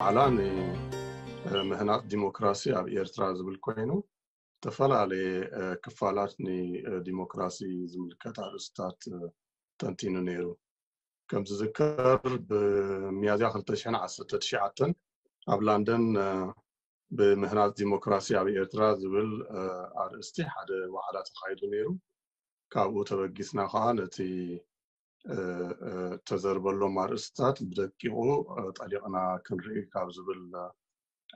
ዓላ ንምህናፅ ዲሞክራሲ ኣብ ኤርትራ ዝብል ኮይኑ ዝተፈላለየ ክፋላት ንዲሞክራሲ ዝምልከት ኣርእስታት ተንቲኑ ነይሩ። ከም ዝዝከር ብሚያዝያ ክልተ ሽሕን ዓሰርተ ትሽዓተን ኣብ ላንደን ብምህናፅ ዲሞክራሲ ኣብ ኤርትራ ዝብል ኣርእስቲ ሓደ ዋዕላ ተኻይዱ ነይሩ። ካብኡ ተበጊስና ከዓ ነቲ ተዘርበሎም ኣርእስታት ብደቂቑ ጠሊቕና ክንርኢ ካብ ዝብል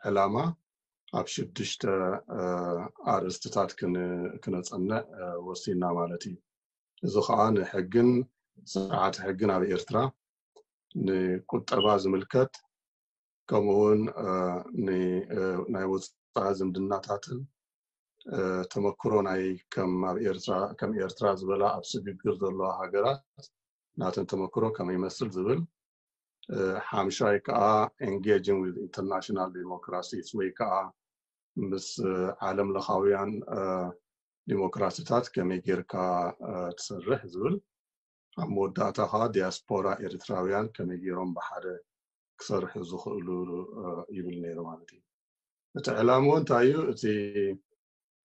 ዕላማ ኣብ ሽዱሽተ ኣርእስትታት ክነፀንዕ ወሲና ማለት እዩ። እዚ ከዓ ንሕግን ስርዓት ሕግን ኣብ ኤርትራ፣ ንቁጠባ ዝምልከት፣ ከምኡውን ናይ ወፃኢ ዝምድናታትን ተመክሮ ናይ ከም ኣብ ኤርትራ ከም ኤርትራ ዝበላ ኣብ ስግግር ዘለዋ ሃገራት ናተን ተመክሮ ከመይ ይመስል ዝብል፣ ሓምሻይ ከዓ engaging with international democracies ወይ ከዓ ምስ ዓለም ለኻውያን ዲሞክራሲታት ከመይ ጌርካ ትሰርሕ ዝብል፣ ኣብ መወዳእታ ከዓ ዲያስፖራ ኤርትራውያን ከመይ ጌሮም ብሓደ ክሰርሑ ዝኽእሉ ይብል ነይሩ ማለት እዩ። እቲ ዕላምኡ እንታይ እዩ? እቲ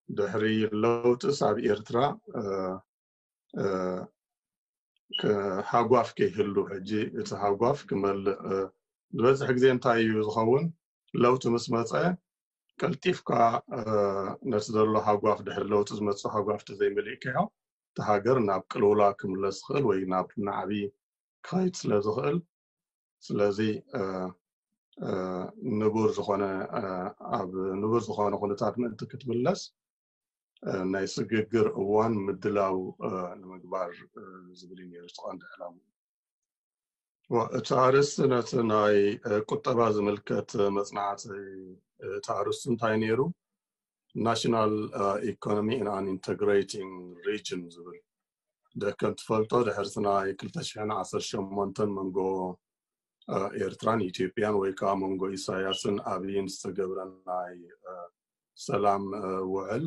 ድሕሪ ለውጥስ ኣብ ኤርትራ ሃጓፍ ከይህሉ፣ ሕጂ እቲ ሃጓፍ ክመልእ ዝበዝሕ ግዜ እንታይ እዩ ዝኸውን? ለውጢ ምስ መፀ ቀልጢፍካ ነቲ ዘሎ ሃጓፍ፣ ድሕሪ ለውጢ ዝመፅእ ሃጓፍ ተዘይመሊእካዮ፣ እቲ ሃገር ናብ ቅልውላ ክምለስ ዝኽእል ወይ ናብ ናዕቢ ክኸይድ ስለ ዝኽእል፣ ስለዚ ንቡር ዝኾነ ኣብ ንቡር ዝኾነ ኩነታት ምእንቲ ክትምለስ ናይ ስግግር እዋን ምድላው ንምግባር ዝብል እዩ ነይሩ እቲ ቀንዲ ዕላማ። እቲ ኣርእስቲ ነቲ ናይ ቁጠባ ዝምልከት መፅናዕቲ፣ እቲ ኣርእስቲ እንታይ ነይሩ? National Economy in an Integrating Region ዝብል። ከም ትፈልጦ ድሕሪ እቲ ናይ ክልተ ሽሕን ዓሰርተ ሸሞንተን መንጎ ኤርትራን ኢትዮጵያን ወይ ከዓ መንጎ ኢሳያስን ኣብይን ዝተገብረ ናይ ሰላም ውዕል፣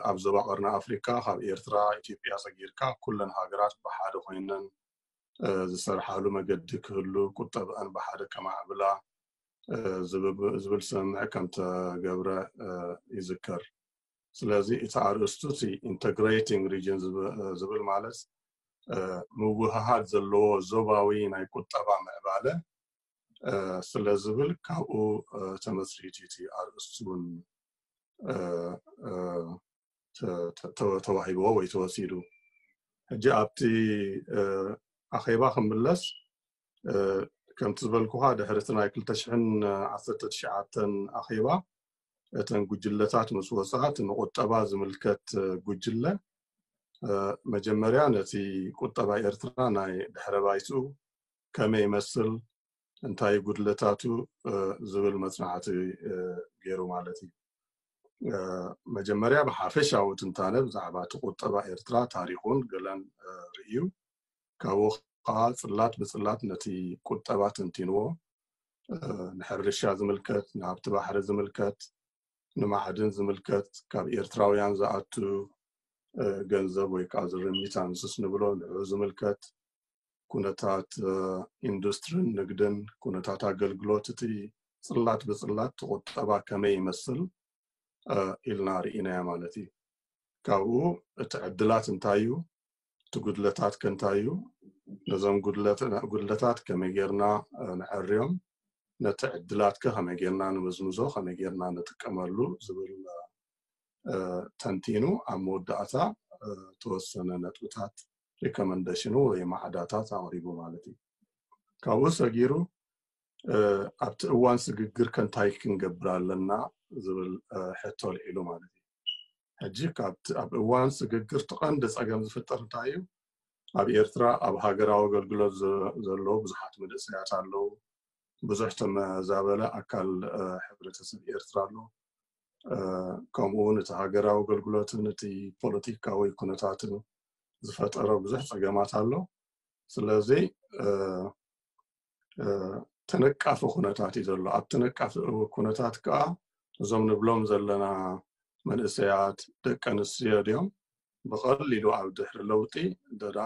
ኣብ ዞባ ቀርኒ ኣፍሪካ ካብ ኤርትራ፣ ኢትዮጵያ ሰጊርካ ኩለን ሃገራት ብሓደ ኮይነን ዝሰርሓሉ መገዲ ክህሉ፣ ቁጠብአን ብሓደ ከማዕብላ ዝብል ስምምዕ ከም ተገብረ ይዝከር። ስለዚ እቲ ኣርእስቱ እቲ Integrating Region ዝብል ማለት ምውህሃድ ዘለዎ ዞባዊ ናይ ቁጠባ ምዕባለ ስለ ዝብል ካብኡ ተመስሪቱ እቲ ኣርእስቲ እውን ተዋሂብዎ ወይ ተወሲዱ። ሕጂ ኣብቲ ኣኼባ ክምለስ፣ ከምቲ ዝበልኩኻ ድሕሪ እቲ ናይ ክልተ ሽሕን ዓሰርተ ትሽዓተን ኣኼባ እተን ጉጅለታት ምስ ወፃ፣ እቲ ንቁጠባ ዝምልከት ጉጅለ መጀመርያ ነቲ ቁጠባ ኤርትራ ናይ ድሕረ ባይትኡ ከመይ ይመስል፣ እንታይ ጉድለታቱ ዝብል መፅናዕቲ ገይሩ ማለት እዩ። መጀመርያ ብሓፈሻዊ ትንታነ ብዛዕባ እቲ ቁጠባ ኤርትራ ታሪኹን ገለን ርእዩ፣ ካብኡ ከዓ ፅላት ብፅላት ነቲ ቁጠባ ተንቲንዎ። ንሕርሻ ዝምልከት፣ ንሃብቲ ባሕሪ ዝምልከት፣ ንማዕድን ዝምልከት፣ ካብ ኤርትራውያን ዝኣቱ ገንዘብ ወይ ከዓ ሪሚታንስስ ንብሎ ንዑ ዝምልከት፣ ኩነታት ኢንዱስትሪን ንግድን፣ ኩነታት ኣገልግሎት፣ እቲ ፅላት ብፅላት ቁጠባ ከመይ ይመስል ኢልና ርኢናዮ ማለት እዩ። ካብኡ እቲ ዕድላት እንታይ እዩ፣ እቲ ጉድለታት ከ እንታይ እዩ፣ ነዞም ጉድለታት ከመይ ጌርና ንዐርዮም፣ ነቲ ዕድላት ከ ከመይ ጌርና ንምዝምዞ፣ ከመይ ጌርና ንጥቀመሉ ዝብል ተንቲኑ ኣብ መወዳእታ ተወሰነ ነጥብታት ሪኮመንደሽኑ ወይ ማዕዳታት ኣቕሪቡ ማለት እዩ። ካብኡ ሰጊሩ ኣብቲ እዋን ስግግር ከ እንታይ ክንገብር ኣለና ዝብል ሕቶ ኣልዒሉ ማለት እዩ። ሕጂ ኣብ እዋን ስግግር እቲ ቀንዲ ፀገም ዝፍጠር እንታይ እዩ? ኣብ ኤርትራ ኣብ ሃገራዊ ኣገልግሎት ዘለዉ ብዙሓት መንእሰያት ኣለዉ። ብዙሕ ተመዛበለ ኣካል ሕብረተሰብ ኤርትራ ኣሎ። ከምኡ እውን እቲ ሃገራዊ ኣገልግሎትን እቲ ፖለቲካዊ ኩነታትን ዝፈጠሮ ብዙሕ ፀገማት ኣሎ። ስለዚ ተነቃፊ ኩነታት እዩ ዘሎ። ኣብ ተነቃፊ ኩነታት ከዓ እዞም ንብሎም ዘለና መንእሰያት፣ ደቂ ኣንስትዮ ድዮም ብቐሊሉ ኣብ ድሕሪ ለውጢ ደኣ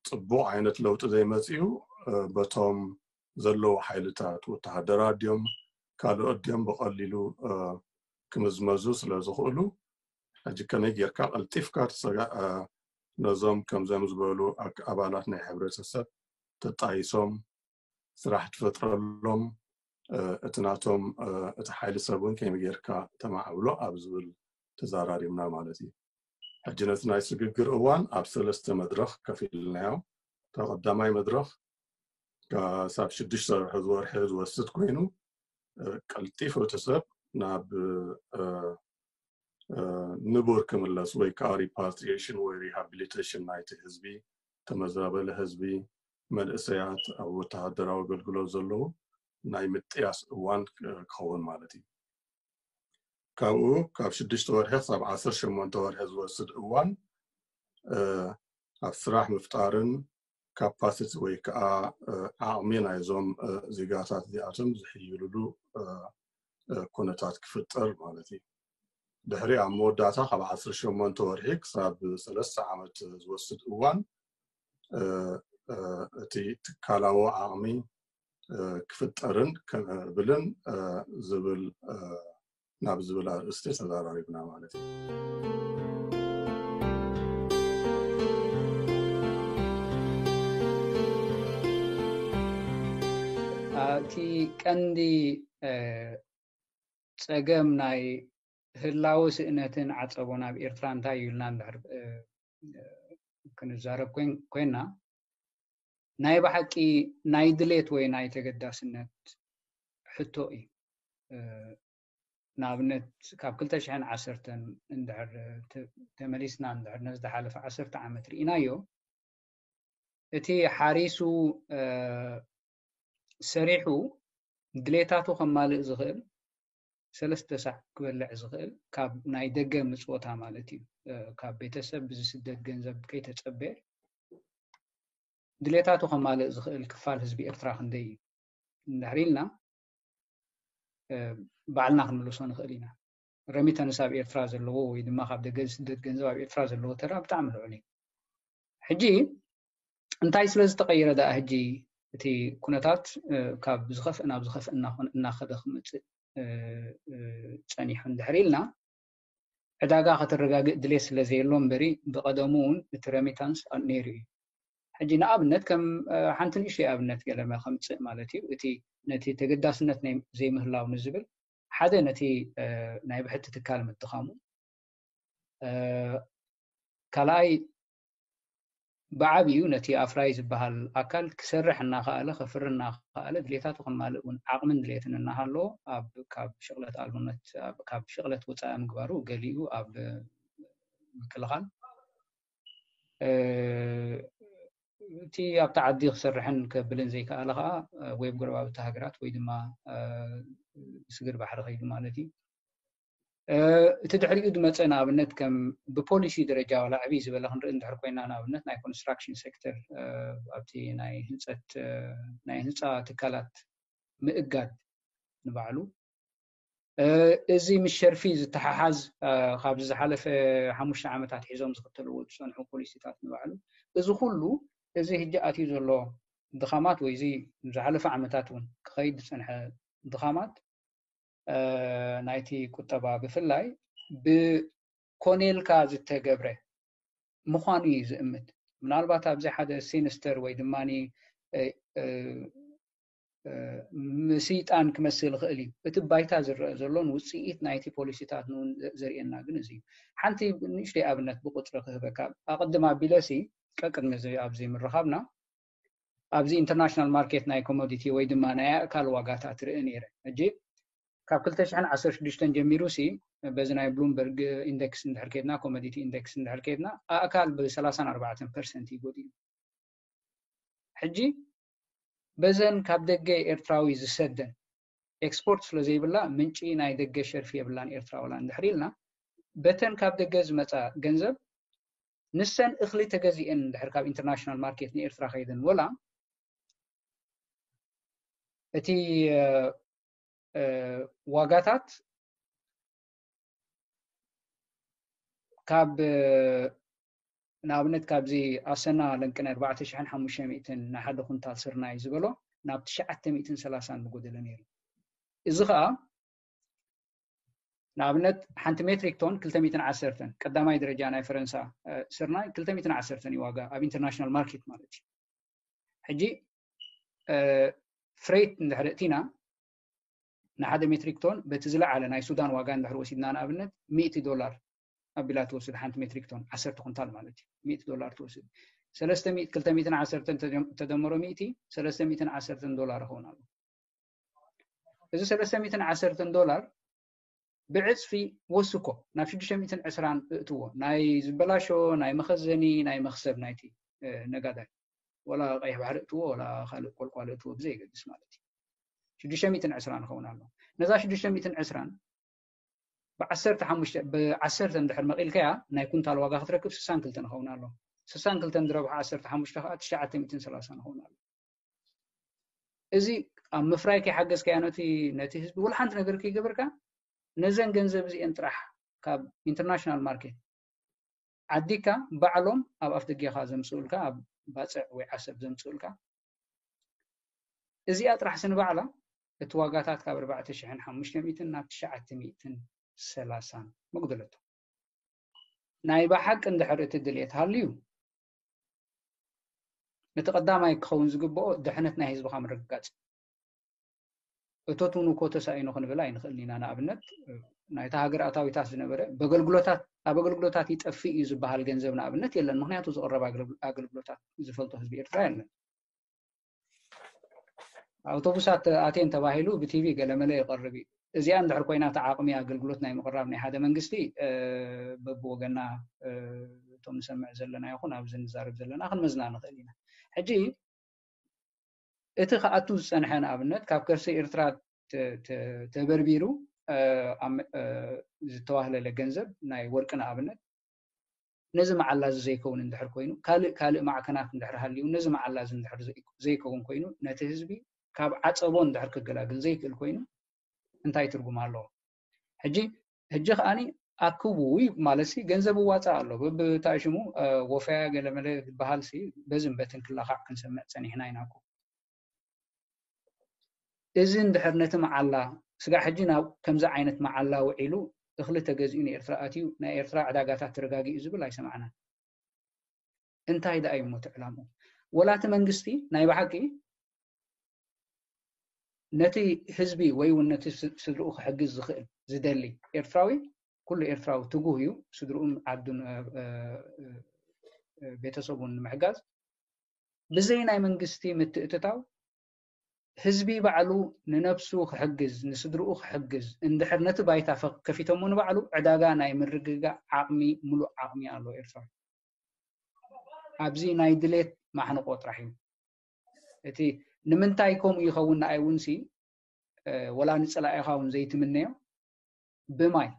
ፅቡቕ ዓይነት ለውጢ ዘይመፅኡ በቶም ዘለዉ ሓይልታት ወተሃደራት ድዮም ካልኦት ድዮም ብቐሊሉ ክምዝመዙ ስለ ዝኽእሉ፣ ሕጂ ከመይ ጌርካ ቀልጢፍካ ነዞም ከምዞም ዝበሉ ኣባላት ናይ ሕብረተሰብ ተጣይሶም ስራሕ ትፈጥረሎም፣ እቲ ናቶም እቲ ሓይሊ ሰብ እውን ከመይ ጌርካ ተማዕብሎ ኣብ ዝብል ተዛራሪብና ማለት እዩ። ሕጂ ነቲ ናይ ስግግር እዋን ኣብ ሰለስተ መድረኽ ከፊልናዮ። እታ ቀዳማይ መድረኽ ክሳብ ሽዱሽተ ወርሒ ዝወስድ ኮይኑ፣ ቀልጢፉ እቲ ሰብ ናብ ንቡር ክምለስ ወይ ከዓ ሪፓትሪሽን ወይ ሪሃቢሊቴሽን ናይቲ ህዝቢ፣ ተመዛበለ ህዝቢ፣ መንእሰያት፣ ኣብ ወተሃደራዊ ኣገልግሎት ዘለዉ ናይ ምጥያስ እዋን ክኸውን ማለት እዩ። ካብኡ ካብ ሽዱሽተ ወርሒ ክሳብ ዓሰርተ ሸሞንተ ወርሒ ዝወስድ እዋን ኣብ ስራሕ ምፍጣርን ካፓሲቲ ወይ ከዓ ዓቕሚ ናይዞም ዜጋታት እዚኣቶም ዝሕይልሉ ኩነታት ክፍጠር ማለት እዩ። ድሕሪ ኣብ መወዳእታ ካብ ዓሰርተ ሸሞንተ ወርሒ ክሳብ ሰለስተ ዓመት ዝወስድ እዋን እቲ ትካላዊ ዓቕሚ ክፍጠርን ክምዕብልን ዝብል ናብ ዝብል ኣርእስቲ ተዘራሪብና ማለት እዩ። እቲ ቀንዲ ጸገም ናይ ህላወ ስእነትን ዓጸቦን ኣብ ኤርትራ እንታይ እዩ ኢልና እንድሕር ክንዛረብ ኮይና፣ ናይ ብሓቂ ናይ ድሌት ወይ ናይ ተገዳስነት ሕቶ እዩ። ንኣብነት ካብ ክልተ ሽሕን ዓሰርተን እንድሕር ተመሊስና እንድሕር ነዚ ዝሓለፈ ዓሰርተ ዓመት ርኢናዮ፣ እቲ ሓሪሱ ሰሪሑ ድሌታቱ ከማልእ ዝኽእል ሰለስተ ሳዕ ክበልዕ ዝኽእል ካብ ናይ ደገ ምጽወታ ማለት እዩ። ካብ ቤተሰብ ብዝስደድ ገንዘብ ከይተጸበየ ድሌታቱ ከማልእ ዝኽእል ክፋል ህዝቢ ኤርትራ ክንደይ እዩ እንድሕር ኢልና ባዕልና ክንምልሶ ንኽእል ኢና። ረሚተንስ ኣብ ኤርትራ ዘለዎ ወይ ድማ ካብ ደገ ዝስደድ ገንዘብ ኣብ ኤርትራ ዘለዎ ተራ ብጣዕሚ ልዑል እዩ። ሕጂ እንታይ ስለ ዝተቐየረ ደኣ ሕጂ እቲ ኩነታት ካብ ዝኸፍእ ናብ ዝኸፍእ እናኸደ ክመፅእ ጸኒሑ እንድሕር ኢልና ዕዳጋ ከተረጋግእ ድሌት ስለ ዘየሎ እምበሪ ብቐደሙ እውን እቲ ረሚታንስ ነይሩ እዩ። ሕጂ ንኣብነት ከም ሓንቲ ንእሽተይ ኣብነት ገለ ከምፅእ ማለት እዩ። እቲ ነቲ ተገዳስነት ዘይምህላው ንዝብል ሓደ ነቲ ናይ ብሕቲ ትካል ምድኻሙ፣ ካልኣይ ብዓብዩ ነቲ ኣፍራይ ዝበሃል ኣካል ክሰርሕ እናኸኣለ ከፍሪ እናኸኣለ ድሌታቱ ከማልእ እውን ዓቕምን ድሌትን እናሃለዎ ኣብ ካብ ሽቕለት ኣልቦነት ካብ ሽቕለት ወፃኢ ምግባሩ ገሊኡ ኣብ ምክልኻል እቲ ኣብቲ ዓዲ ክሰርሕን ከብልን ዘይከኣለ ከዓ ወይ ኣብ ጎረባብቲ ሃገራት ወይ ድማ ስግር ባሕሪ ከይዱ ማለት እዩ። እቲ ድሕሪኡ ዝመፀ ንኣብነት ከም ብፖሊሲ ደረጃ ዋላ ዕብይ ዝበለ ክንርኢ እንድሕር ኮይና ንኣብነት ናይ ኮንስትራክሽን ሴክተር ኣብቲ ናይ ህንፀት ናይ ህንፃ ትካላት ምእጋድ ንባዕሉ እዚ ምስ ሸርፊ ዝተሓሓዝ ካብዚ ዝሓለፈ ሓሙሽተ ዓመታት ሒዞም ዝኽተልዎ ዝፀንሑ ፖሊሲታት ንባዕሉ እዚ ኩሉ እዚ ህጂ ኣትዩ ዘሎ ድኻማት ወይ እዚ ዝሓለፈ ዓመታት እውን ክኸይድ ዝፀንሐ ድኻማት ናይቲ ቁጠባ ብፍላይ ብኮኔልካ ዝተገብረ ምዃኑ እዩ ዝእምት። ምናልባት ኣብዚ ሓደ ሲኒስተር ወይ ድማ ምስይጣን ክመስል ይኽእል እዩ። እቲ ባይታ ዝረአ ዘሎን ውፅኢት ናይቲ ፖሊሲታት ንውን ዘርእየና ግን እዚ እዩ። ሓንቲ ንእሽተይ ኣብነት ብቁፅሪ ክህበካ ኣቐድም ኣቢለሲ ቀቅድሚ ኣብዚ ምርኻብና ኣብዚ ኢንተርናሽናል ማርኬት ናይ ኮሞዲቲ ወይ ድማ ናይ ኣእካል ዋጋታት ርኢ ነይረ። ሕጂ ካብ ክልተ ሽሕን ዓሰርተ ሽዱሽተን ጀሚሩ ሲ በዚ ናይ ብሉምበርግ ኢንደክስ እንድሕር ከድና ኮሞዲቲ ኢንደክስ እንድሕር ከድና ኣእካል ብ ሰላሳን ኣርባዕተን ፐርሰንት እዩ ጎዲሉ። ሕጂ በዘን ካብ ደገ ኤርትራዊ ዝሰደን ኤክስፖርት ስለ ዘይብላ ምንጪ ናይ ደገ ሸርፊ የብላን ኤርትራ ወላ እንድሕር ኢልና በተን ካብ ደገ ዝመፃ ገንዘብ ንሰን እኽሊ ተገዚኤን እንድሕር ካብ ኢንተርናሽናል ማርኬት ንኤርትራ ከይደን ወላ እቲ ዋጋታት ካብ ንኣብነት ካብዚ ኣሰና ለንቅነ ኣርባዕተ ሽሕን ሓሙሽተ ሚእትን ንሓደ ኩንታል ስርናይ ዝበሎ ናብ ትሽዓተ ሚእትን ሰላሳን ምጎደለ ነይሩ። እዚ ከዓ ንኣብነት ሓንቲ ሜትሪክ ቶን ክልተ ሚእትን ዓሰርተን፣ ቀዳማይ ደረጃ ናይ ፈረንሳ ስርናይ ክልተ ሚእትን ዓሰርተን እዩ ዋጋ ኣብ ኢንተርናሽናል ማርኬት ማለት እዩ። ሕጂ ፍሬት እንድሕር እቲና ንሓደ ሜትሪክ ቶን በቲ ዝለዓለ ናይ ሱዳን ዋጋ እንድሕር ወሲድና ንኣብነት ሚእቲ ዶላር ኣቢላ ትወስድ ሓንቲ ሜትሪክ ቶን ዓሰርተ ኩንታል ማለት እዩ። ሚእቲ ዶላር ትወስድ። ሰለስተ ሚእቲ፣ ክልተ ሚእትን ዓሰርተን ተደምሮ ሚእቲ፣ ሰለስተ ሚእትን ዓሰርተን ዶላር ይኸውን ኣሎ። እዚ ሰለስተ ሚእትን ዓሰርተን ዶላር ብዕፅፊ ወስኮ ናብ ሽዱሽተ ሚእትን ዕስራን እእትዎ። ናይ ዝበላሾ ናይ መኸዘኒ ናይ መኽሰብ ናይቲ ነጋዳይ፣ ወላ ቀይሕ ባሕሪ እእትዎ ወላ ካልእ ቆልቋል እእትዎ ብዘይገድስ ማለት እዩ። ሽዱሽተ ሚእትን ዕስራን ይኸውን ኣሎ። ነዛ ሽዱሽተ ሚእትን ዕስራን ብዓሰርተ ሓሙሽተ ብዓሰርተ እንድሕር መቒልካያ ናይ ኩንታል ዋጋ ክትረክብ ስሳን ክልተን ይኸውን ኣሎ። ስሳን ክልተን ዝረብሖ ዓሰርተ ሓሙሽተ ከዓ ትሽዓተ ሚእትን ሰላሳን ይኸውን ኣሎ። እዚ ኣብ ምፍራይ ከይሓገዝካያ ነቲ ነቲ ህዝቢ ወላ ሓንቲ ነገር ከይገበርካ ነዘን ገንዘብ እዚአን ጥራሕ ካብ ኢንተርናሽናል ማርኬት ዓዲካ ባዕሎም ኣብ ኣፍ ደጌኻ ዘምፅኡልካ ኣብ ባፅዕ ወይ ዓሰብ ዘምፅኡልካ እዚኣ ጥራሕ ስንባዕላ እቲ ዋጋታት ካብ ኣርባዕተ ሽሕን ሓሙሽተ ሚእትን ናብ ትሽዓተ ሚእትን ሰላሳን መጉደለቶ። ናይ ብሓቂ እንድሕር እቲ ድልየት ሃልዩ ነቲ ቀዳማይ ክኸውን ዝግብኦ ድሕነት ናይ ህዝብኻ ምርግጋጽ። እቶት እውን እኮ ተሳኢኑ ክንብል ኣይንኽእልን ኢና። ንኣብነት ናይታ ሃገር ኣታዊታት ዝነበረ በገልግሎታት ኣብ ኣገልግሎታት ይጠፍእ እዩ ዝበሃል ገንዘብ ንኣብነት የለን። ምክንያቱ ዝቕረብ ኣገልግሎታት ዝፈልጦ ህዝቢ ኤርትራ የለን። ኣውቶቡሳት ኣትየን ተባሂሉ ብቲቪ ገለመለ ይቐርብ እዩ። እዚኣ እንድሕር ኮይና እቲ ዓቕሚ ኣገልግሎት ናይ ምቕራብ ናይ ሓደ መንግስቲ በብወገና እቶም ንሰምዕ ዘለና ይኹን ኣብዚ ንዛረብ ዘለና ክንመዝና ንኽእል ኢና። ሕጂ እቲ ክኣቱ ዝፀንሐ ንኣብነት ካብ ከርሲ ኤርትራ ተበርቢሩ ዝተዋህለለ ገንዘብ ናይ ወርቂ ንኣብነት ነዚ መዓላ እዚ ዘይከውን እንድሕር ኮይኑ ካልእ ካልእ ማዕከናት እንድሕር ሃልዩ ነዚ መዓላ እዚ እንድሕር ዘይከውን ኮይኑ ነቲ ህዝቢ ካብ ዓፀቦ እንድሕር ክገላግል ዘይክእል ኮይኑ እንታይ ትርጉም ኣለዎ? ሕጂ ሕጂ ከዓኒ ኣክቡ ማለት ሲ ገንዘብ እዋፃእ ኣሎ ብብታይ ሽሙ ወፈያ ገለመለ ዝበሃል ሲ በዝን በትን ክላኻዕ ክንሰምዕ ፀኒሕና ኢና እኮ። እዚ እንድሕር ነቲ መዓላ ስጋዕ ሕጂ ናብ ከምዚ ዓይነት መዓላ ውዒሉ እኽሊ ተገዚኡ ንኤርትራ ኣትዩ ናይ ኤርትራ ዕዳጋታት ተረጋጊኡ ዝብል ኣይሰማዕናን። እንታይ ደኣ እዩ እሞ እቲ ዕላምኡ? ወላ እቲ መንግስቲ ናይ ብሓቂ ነቲ ህዝቢ ወይ እውን ነቲ ስድርኡ ክሕግዝ ዝኽእል ዝደሊ ኤርትራዊ ኩሉ ኤርትራዊ ትጉህ እዩ ስድርኡን ዓዱን ቤተሰቡን ንምሕጋዝ ብዘይ ናይ መንግስቲ ምትእትታው ህዝቢ ባዕሉ ንነብሱ ክሕግዝ ንስድርኡ ክሕግዝ እንድሕር ነቲ ባይታ ከፊቶሞ ንባዕሉ ዕዳጋ ናይ ምርግጋእ ዓቕሚ ሙሉእ ዓቕሚ ኣሎ ኤርትራ። ኣብዚ ናይ ድሌት ማሕንቆ ጥራሕ እዩ። እቲ ንምንታይ ከምኡ ይኸውን ንኣይ እውን ሲ ወላ ንፀላኢኻ እውን ዘይትምነዮ ብማይ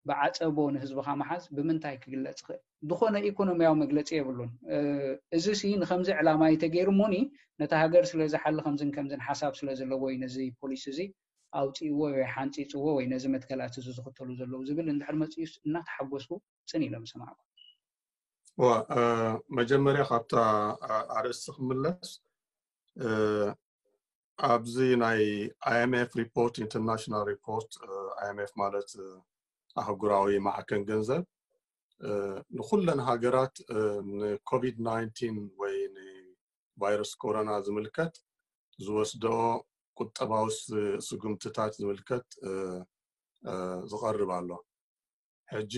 ብዓፀቦ ንህዝብኻ ምሓዝ ብምንታይ ክግለፅ ይኽእል? ዝኾነ ኢኮኖሚያዊ መግለፂ የብሉን። እዚ ሲ ንከምዚ ዕላማ እዩ ተገይሩ እሞኒ ነታ ሃገር ስለ ዝሓሊ ከምዝን ከምዝን ሓሳብ ስለ ዘለዎ እዩ ነዚ ፖሊሲ እዚ ኣውፅእዎ ወይ ሓንፂፅዎ ወይ ነዚ መትከላት እዚ ዝኽተሉ ዘለዉ ዝብል እንድሕር መፅኡስ እናተሓጎስኩ ፅን ኢለ ምሰማዕኩ። መጀመርያ ካብታ ኣርእስቲ ክምለስ ኣብዚ ናይ IMF report international report IMF ማለት ኣህጉራዊ ማዕከን ገንዘብ ንኩለን ሃገራት ንኮቪድ ናይንቲን ወይ ንቫይረስ ኮሮና ዝምልከት ዝወስደኦ ቁጠባዊ ስጉምትታት ዝምልከት ዝቐርብ ኣሎ። ሕጂ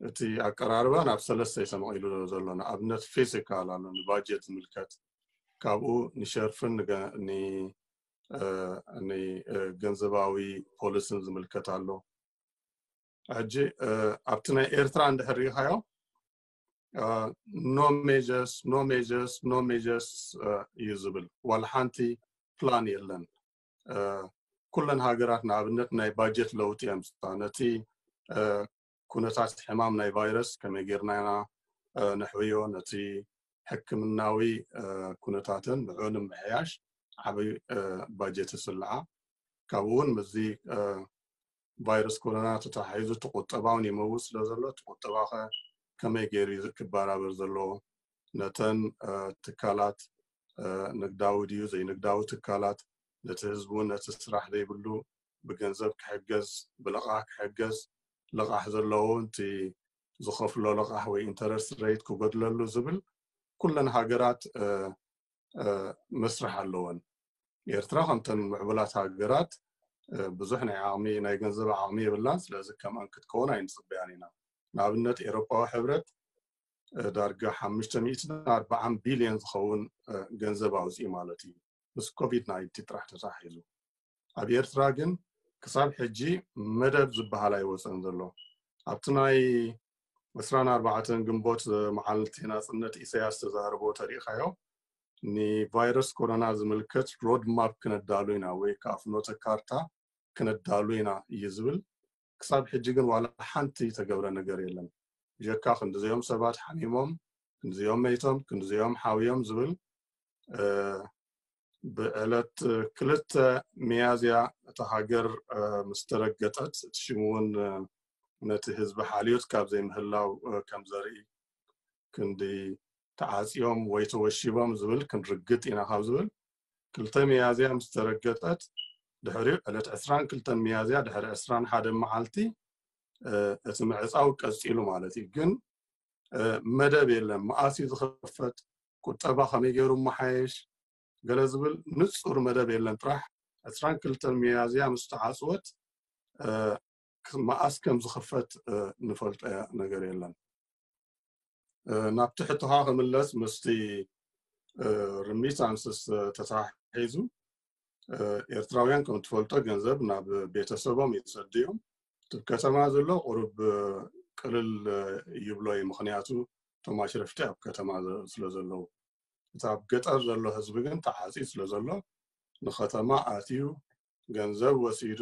እቲ ኣቀራርባ ናብ ሰለስተ እዩ ተመቒሉ ዘሎ። ንኣብነት ፊስካል ኣሎ ንባጀት ዝምልከት፣ ካብኡ ንሸርፍን ንገንዘባዊ ፖሊስን ዝምልከት ኣሎ። ሕጂ ኣብቲ ናይ ኤርትራ እንድሕር ሪኢኻዮ no measures no measures no measures እዩ ዝብል። ዋላ ሓንቲ ፕላን የለን። ኩለን ሃገራት ንኣብነት ናይ ባጀት ለውጢ የምፅኣ። ነቲ ኩነታት ሕማም ናይ ቫይረስ ከመይ ጌርና ኢና ነሕውዮ፣ ነቲ ሕክምናዊ ኩነታትን ብዕኡ ንምምሕያሽ ዓብዪ ባጀት ይስልዓ። ካብኡ እውን ምስዚ ቫይረስ ኮሮና ተተሓሒዙ እቲ ቁጠባ እውን ይመውት ስለ ዘሎ እቲ ቁጠባ ከ ከመይ ገይሩ እዩ ክበራበር ዘለዎ? ነተን ትካላት ንግዳዊ ድዩ ዘይንግዳዊ ትካላት፣ ነቲ ህዝቢ እውን ነቲ ስራሕ ዘይብሉ ብገንዘብ ክሕገዝ፣ ብልቓሕ ክሕገዝ፣ ልቓሕ ዘለዎ እቲ ዝኸፍሎ ልቓሕ ወይ ኢንተረስት ሬት ክጎድለሉ ዝብል ኩለን ሃገራት መስርሕ ኣለወን። ኤርትራ ከምተን ምዕቡላት ሃገራት ብዙሕ ናይ ዓቕሚ ናይ ገንዘብ ዓቕሚ የብላን። ስለዚ ከምኣን ክትከውን ኣይንፅበያን ኢና። ንኣብነት ኤሮፓዊ ሕብረት ዳርጋ ሓሙሽተ ሚእትን ኣርባዓን ቢልዮን ዝኸውን ገንዘብ ኣውፅኡ ማለት እዩ፣ ምስ ኮቪድ ናይንቲ ጥራሕ ተታሒዙ። ኣብ ኤርትራ ግን ክሳብ ሕጂ መደብ ዝበሃል ኣይወፀን ዘሎ። ኣብቲ ናይ ዕስራን ኣርባዕተን ግንቦት መዓልቲ ናፅነት ኢሳያስ ተዛረቦ ተሪኢኻዮ፣ ንቫይረስ ኮሮና ዝምልከት ሮድ ማፕ ክነዳሉ ኢና ወይ ከዓ ፍኖተ ካርታ ክነዳሉ ኢና እዩ ዝብል። ክሳብ ሕጂ ግን ዋላ ሓንቲ ዝተገብረ ነገር የለን። ብጀካ ክንድዚኦም ሰባት ሓሚሞም፣ ክንድዚኦም መይቶም፣ ክንድዚኦም ሓውዮም ዝብል ብዕለት ክልተ ሚያዝያ እታ ሃገር ምስ ተረገጠት፣ እቲ ሽሙ እውን ነቲ ህዝቢ ሓልዮት ካብ ዘይምህላው ከም ዘርኢ፣ ክንዲ ተዓፅዮም ወይ ተወሺቦም ዝብል ክንርግጥ ኢና ካብ ዝብል፣ ክልተ ሚያዝያ ምስ ተረገጠት፣ ድሕሪኡ ዕለት ዕስራን ክልተን ሚያዝያ ድሕሪ ዕስራን ሓደን መዓልቲ እቲ ምዕፃው ቀፂሉ ማለት እዩ። ግን መደብ የለን። መኣስ እዩ ዝኽፈት፣ ቁጠባ ከመይ ገይሩ መሓየሽ፣ ገለ ዝብል ንፁር መደብ የለን። ጥራሕ ዕስራን ክልተን ሚያዝያ ምስ ተዓፅወት መኣስ ከም ዝኽፈት ንፈልጦ ነገር የለን። ናብቲ ሕቶኻ ክምለስ፣ ምስቲ ሪሚታንስስ ተተሓሒዙ፣ ኤርትራውያን ከም ትፈልጦ ገንዘብ ናብ ቤተሰቦም ይሰዱ እዮም። እቲ ከተማ ዘሎ ቁሩብ ቅልል ይብሎ እዩ፣ ምኽንያቱ እቶም ኣሽረፍቲ ኣብ ከተማ ስለ ዘለዉ። እቲ ኣብ ገጠር ዘሎ ህዝቢ ግን ተዓፅዩ ስለ ዘሎ፣ ንከተማ ኣትዩ ገንዘብ ወሲዱ፣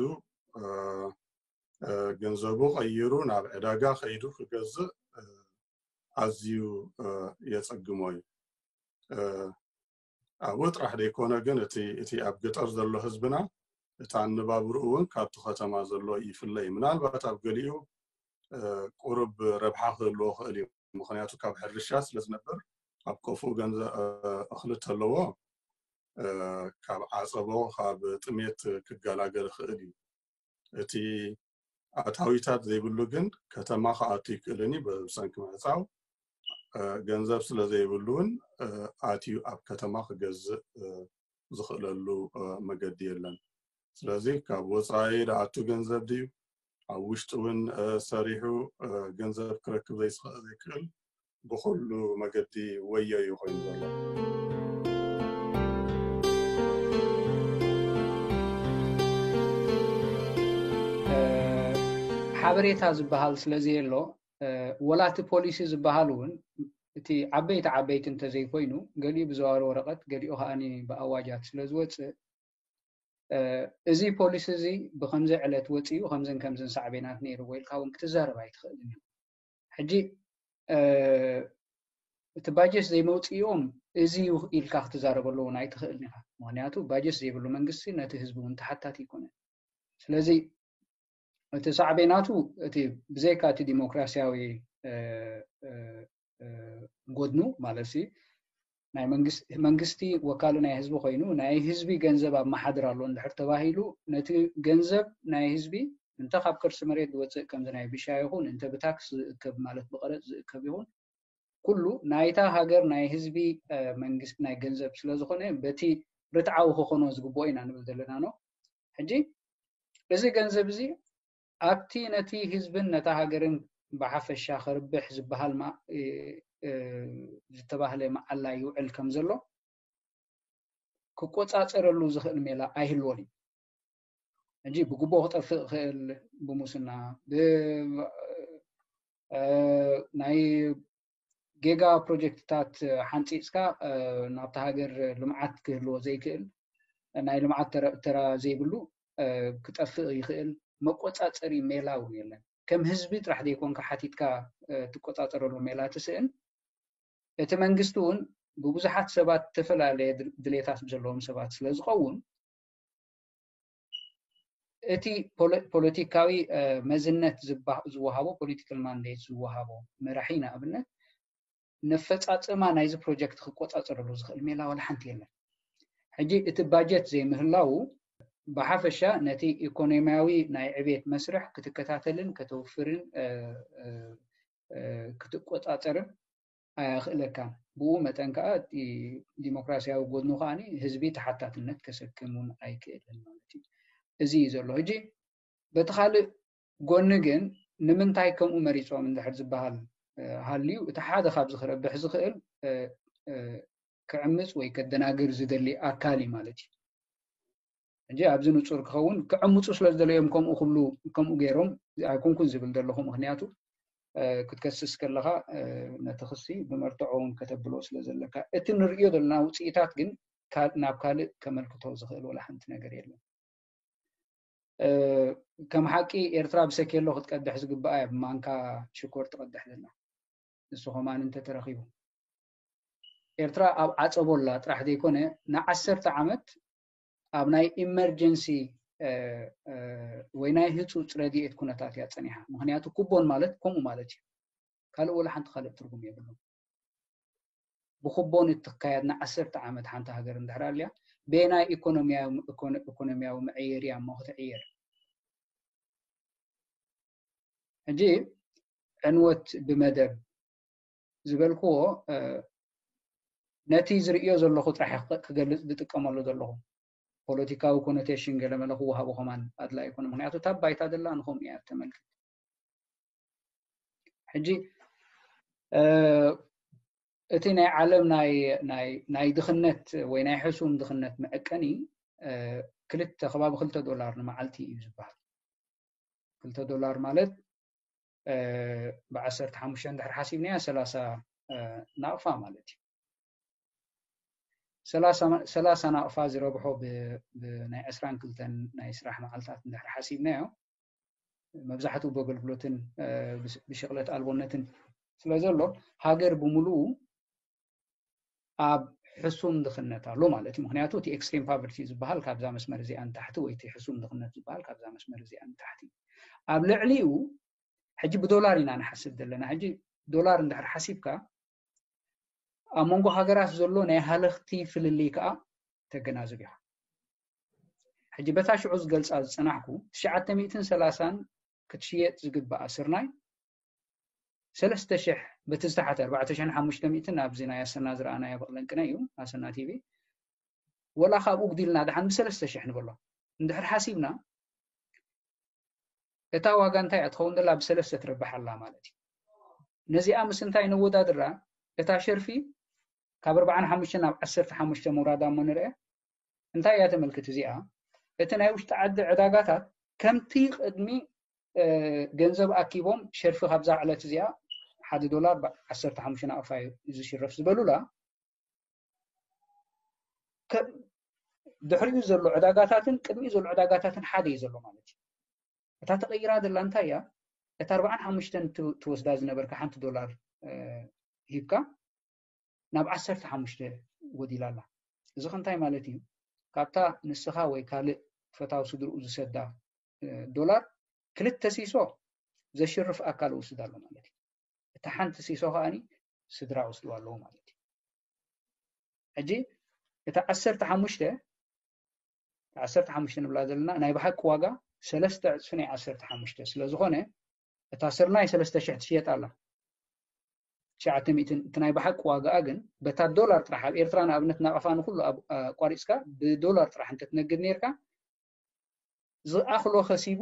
ገንዘቡ ቀይሩ ናብ ዕዳጋ ከይዱ ክገዝእ ኣዝዩ የፀግሞ እዩ። ኣብኡ ጥራሕ ዘይኮነ ግን እቲ እቲ ኣብ ገጠር ዘሎ ህዝብና፣ እቲ ኣነባብርኡ እውን ካብቲ ከተማ ዘሎ ይፍለ እዩ። ምናልባት ኣብ ገሊኡ ቁሩብ ረብሓ ክህልዎ ክእል እዩ። ምኽንያቱ ካብ ሕርሻ ስለ ዝነብር፣ ኣብ ቆፍኡ ገንዘ እኽሊ ተለዎ፣ ካብ ዓፀቦ ካብ ጥሜት ክገላገል ይኽእል እዩ። እቲ ኣታዊታት ዘይብሉ ግን ከተማ ክኣቱ ይክእልን እዩ። ብሰንኪ ምዕፃው ገንዘብ ስለ ዘይብሉ እውን ኣትዩ ኣብ ከተማ ክገዝእ ዝኽእለሉ መገዲ የለን። ስለዚ ካብ ወፃኢ ዝኣቱ ገንዘብ ድዩ፣ ኣብ ውሽጢ እውን ሰሪሑ ገንዘብ ክረክብ ዘይክእል፣ ብኩሉ መገዲ ወዮ እዩ ኮይኑ ዘሎ። ሓበሬታ ዝበሃል ስለ ዘየሎ፣ ወላ እቲ ፖሊሲ ዝበሃል እውን እቲ ዓበይቲ ዓበይቲ እንተዘይኮይኑ፣ ገሊኡ ብዘዋሪ ወረቐት፣ ገሊኡ ከኣ ብኣዋጃት ስለ ዝወፅእ፣ እዚ ፖሊሲ እዚ ብከምዚ ዕለት ወፂኡ ከምዝን ከምዝን ሳዕቤናት ነይርዎ ኢልካ እውን ክትዛረብ ኣይትኽእልን እዩ። ሕጂ እቲ ባጀት ዘይመውፅኦም እዚ እዩ ኢልካ ክትዛረበሉ እውን ኣይትኽእልን ኢኻ። ምክንያቱ ባጀት ዘይብሉ መንግስቲ ነቲ ህዝቢ እውን ተሓታቲ ኣይኮነን። ስለዚ እቲ ሳዕቤናቱ እቲ ብዘይካ እቲ ዲሞክራሲያዊ ጎድኑ ማለት ሲ ናይ መንግስቲ ወካሊ ናይ ህዝቢ ኮይኑ ናይ ህዝቢ ገንዘብ ኣመሓድር ኣሎ እንድሕር ተባሂሉ ነቲ ገንዘብ ናይ ህዝቢ እንተ ካብ ከርሲ መሬት ዝወፅእ ከምዚ ናይ ብሻ ይኹን እንተ ብታክስ ዝእከብ ማለት ብቀረፅ ዝእከብ ይኹን ኩሉ ናይታ ሃገር ናይ ህዝቢ መንግስቲ ናይ ገንዘብ ስለዝኾነ በቲ ርትዓዊ ክኾኖ ዝግብኦ ኢና ንብል ዘለና ነው። ሕጂ እዚ ገንዘብ እዚ ኣብቲ ነቲ ህዝብን ነታ ሃገርን ብሓፈሻ ከርብሕ ዝበሃል ዝተባህለ መዓላ ይውዕል ከም ዘሎ ክቆፃፀረሉ ዝኽእል ሜላ ኣይህልዎን እዩ። ሕጂ ብጉቦ ክጠፍእ ክእል ብሙስና ናይ ጌጋ ፕሮጀክትታት ሓንፂፅካ ናብቲ ሃገር ልምዓት ክህልዎ ዘይክእል ናይ ልምዓት ተራ ዘይብሉ ክጠፍእ ይኽእል መቆፃፀሪ ሜላ እውን የለን። ከም ህዝቢ ጥራሕ ዘይኮንካ ሓቲትካ ትቆፃፀረሉ ሜላ ትስእን። እቲ መንግስቲ እውን ብብዙሓት ሰባት ዝተፈላለየ ድሌታት ዘለዎም ሰባት ስለ ዝኸውን እቲ ፖለቲካዊ መዝነት ዝወሃቦ ፖለቲካል ማንዴት ዝወሃቦ መራሒ ንኣብነት ነፈፃፅማ ናይዚ ፕሮጀክት ክቆፃፀረሉ ዝኽእል ሜላ ዋላ ሓንቲ የለን። ሕጂ እቲ ባጀት ዘይምህላው ብሓፈሻ ነቲ ኢኮኖሚያዊ ናይ ዕቤት መስርሕ ክትከታተልን ከተውፍርን ክትቆፃፀርን ኣያኽእለካን። ብኡ መጠን ከዓ ዲሞክራሲያዊ ጎድኑ ከዓ ህዝቢ ተሓታትነት ከሰክም እውን ኣይክእልን ማለት እዩ። እዚ እዩ ዘሎ። ሕጂ በቲ ካልእ ጎኒ ግን ንምንታይ ከምኡ መሪፆም እንድሕር ዝበሃል ሃልዩ እቲ ሓደ ካብዚ ክረብሕ ዝኽእል ክዕምፅ ወይ ከደናግር ዝደሊ ኣካል እዩ ማለት እዩ። ሕጂ ኣብዚ ንፁር ክኸውን ክዕምፁ ስለ ዝደለዮም ከምኡ ክብሉ ከምኡ ገይሮም ኣይኮንኩን ዝብል ዘለኹ። ምክንያቱ ክትከስስ ከለኻ ነቲ ክሲ ብመርትዖ እውን ከተብሎ ስለ ዘለካ፣ እቲ ንርእዮ ዘለና ውፅኢታት ግን ናብ ካልእ ከመልክቶ ዝኽእል ወላ ሓንቲ ነገር የለን። ከም ሓቂ ኤርትራ ብሰኬሎ ክትቀድሕ ዝግባኣ እያ ብማንካ ሽኮር ትቐድሕ ዘላ። ንሱ ከማን እንተተረኺቡ ኤርትራ ኣብ ዓፀቦ ኣላ ጥራሕ ዘይኮነ ንዓሰርተ ዓመት ኣብ ናይ ኢመርጀንሲ ወይ ናይ ህፁፅ ረድኤት ኩነታት እያ ፀኒሓ። ምክንያቱ ኩቦን ማለት ከምኡ ማለት እዩ። ካልእ ወላ ሓንቲ ካልእ ትርጉም የብሉን። ብኩቦን እትካየድ ንዓሰርተ ዓመት ሓንቲ ሃገር እንድሕር ኣልያ በየናይ ኢኮኖሚያዊ መዐየሪ እያ እሞ ክትዕየር? ሕጂ ዕንወት ብመደብ ዝበልክዎ ነቲ ዝርእዮ ዘለኹ ጥራሕ ክገልፅ ዝጥቀመሉ ዘለኹ። ፖለቲካዊ ኮኖቴሽን ገለመለ ክወሃቦ ከማን ኣድላይ ኣይኮነ። ምክንያቱ እታ ባይታ ደላ ንኸምኡ እያ ተመልክት። ሕጂ እቲ ናይ ዓለም ናይ ድኽነት ወይ ናይ ሕሱም ድኽነት መዐቀኒ ክልተ ከባቢ ክልተ ዶላር ንመዓልቲ እዩ ዝበሃል። ክልተ ዶላር ማለት ብዓሰርተ ሓሙሽተ እንድሕር ሓሲብናያ ሰላሳ ናቕፋ ማለት እዩ። ሰላሳ ናቕፋ ዝረብሖ ብናይ ዕስራን ክልተን ናይ ስራሕ መዓልታት እንድሕር ሓሲብናዮ መብዛሕትኡ ብኣገልግሎትን ብሽቕለት ኣልቦነትን ስለ ዘሎ ሃገር ብምሉኡ ኣብ ሕሱም ድኽነት ኣሎ ማለት እዩ። ምክንያቱ እቲ ኤክስትሪም ፓቨርቲ ዝበሃል ካብዛ መስመር እዚኣ ንታሕቲ ወይ እቲ ሕሱም ድኽነት ዝበሃል ካብዛ መስመር እዚኣ ንታሕቲ። ኣብ ልዕሊኡ ሕጂ ብዶላር ኢና ንሓስብ ዘለና። ሕጂ ዶላር እንድሕር ሓሲብካ ኣብ መንጎ ሃገራት ዘሎ ናይ ሃለኽቲ ፍልልይ ከዓ ተገናዝብ ኢኻ። ሕጂ በታ ሽዑ ዝገልፃ ዝፀናሕኩ ትሽዓተ ሚእትን ሰላሳን ክትሽየጥ ዝግባኣ ስርናይ ሰለስተ ሽሕ በቲ ዝተሓተ ኣርባዕተ ሽሕን ሓሙሽተ ሚእትን ኣብዚ ናይ ኣሰና ዝረኣናዮ በቕለንቅነ እዩ ኣሰና ቲቪ ወላ ካብኡ ግዲልና ደሓን ብሰለስተ ሽሕ ንበሎ እንድሕር ሓሲብና እታ ዋጋ እንታይ እያ ትኸውን ዘላ ብሰለስተ ትረብሕ ኣላ ማለት እዩ። ነዚኣ ምስ እንታይ ነወዳድራ? እታ ሸርፊ ካብ ኣርባዓን ሓሙሽተን ናብ ዓሰርተ ሓሙሽተ ምውራዳ እሞ ንርአ እንታይ እያ ተመልክት እዚኣ? እቲ ናይ ውሽጢ ዓዲ ዕዳጋታት ከምቲ ቅድሚ ገንዘብ ኣኪቦም ሸርፊ ካብዛ ዕለት እዚኣ ሓደ ዶላር ዓሰርተ ሓሙሽተ ናቕፋ እዩ ዝሽረፍ ዝበሉላ ድሕሪኡ ዘሎ ዕዳጋታትን ቅድሚኡ ዘሎ ዕዳጋታትን ሓደ እዩ ዘሎ ማለት እዩ። እታ ተቐይራ ዘላ እንታይ እያ? እታ ኣርባዓን ሓሙሽተን ትወስዳ ዝነበርካ ሓንቲ ዶላር ሂብካ ናብ ዓሰርተ ሓሙሽተ ወዲላ ኣላ። እዚ ከ እንታይ ማለት እዩ? ካብታ ንስኻ ወይ ካልእ ፈታዊ ስድርኡ ዝሰዳ ዶላር ክልተ ሲሶ ዘሽርፍ ኣካል ወስድ ኣሎ ማለት እዩ። እታ ሓንቲ ሲሶ ከዓኒ ስድራ ወስድዋ ኣለዉ ማለት እዩ። ሕጂ እታ ዓሰርተ ሓሙሽተ ዓሰርተ ሓሙሽተ ንብላ ዘለና ናይ ብሓቂ ዋጋ ሰለስተ ዕፅፊ ናይ ዓሰርተ ሓሙሽተ ስለ ዝኾነ እታ ስርናይ ሰለስተ ሽሕ ትሽየጥ ኣላ። ትሽዓተ ሚእትን እቲ ናይ ብሓቂ ዋጋኣ ግን በታ ዶላር ጥራሕ ኣብ ኤርትራ ንኣብነት ናቕፋ ንኩሉ ኣቋሪፅካ ብዶላር ጥራሕ እንተትነግድ ነርካ ዝኣኽሎ ከሲቡ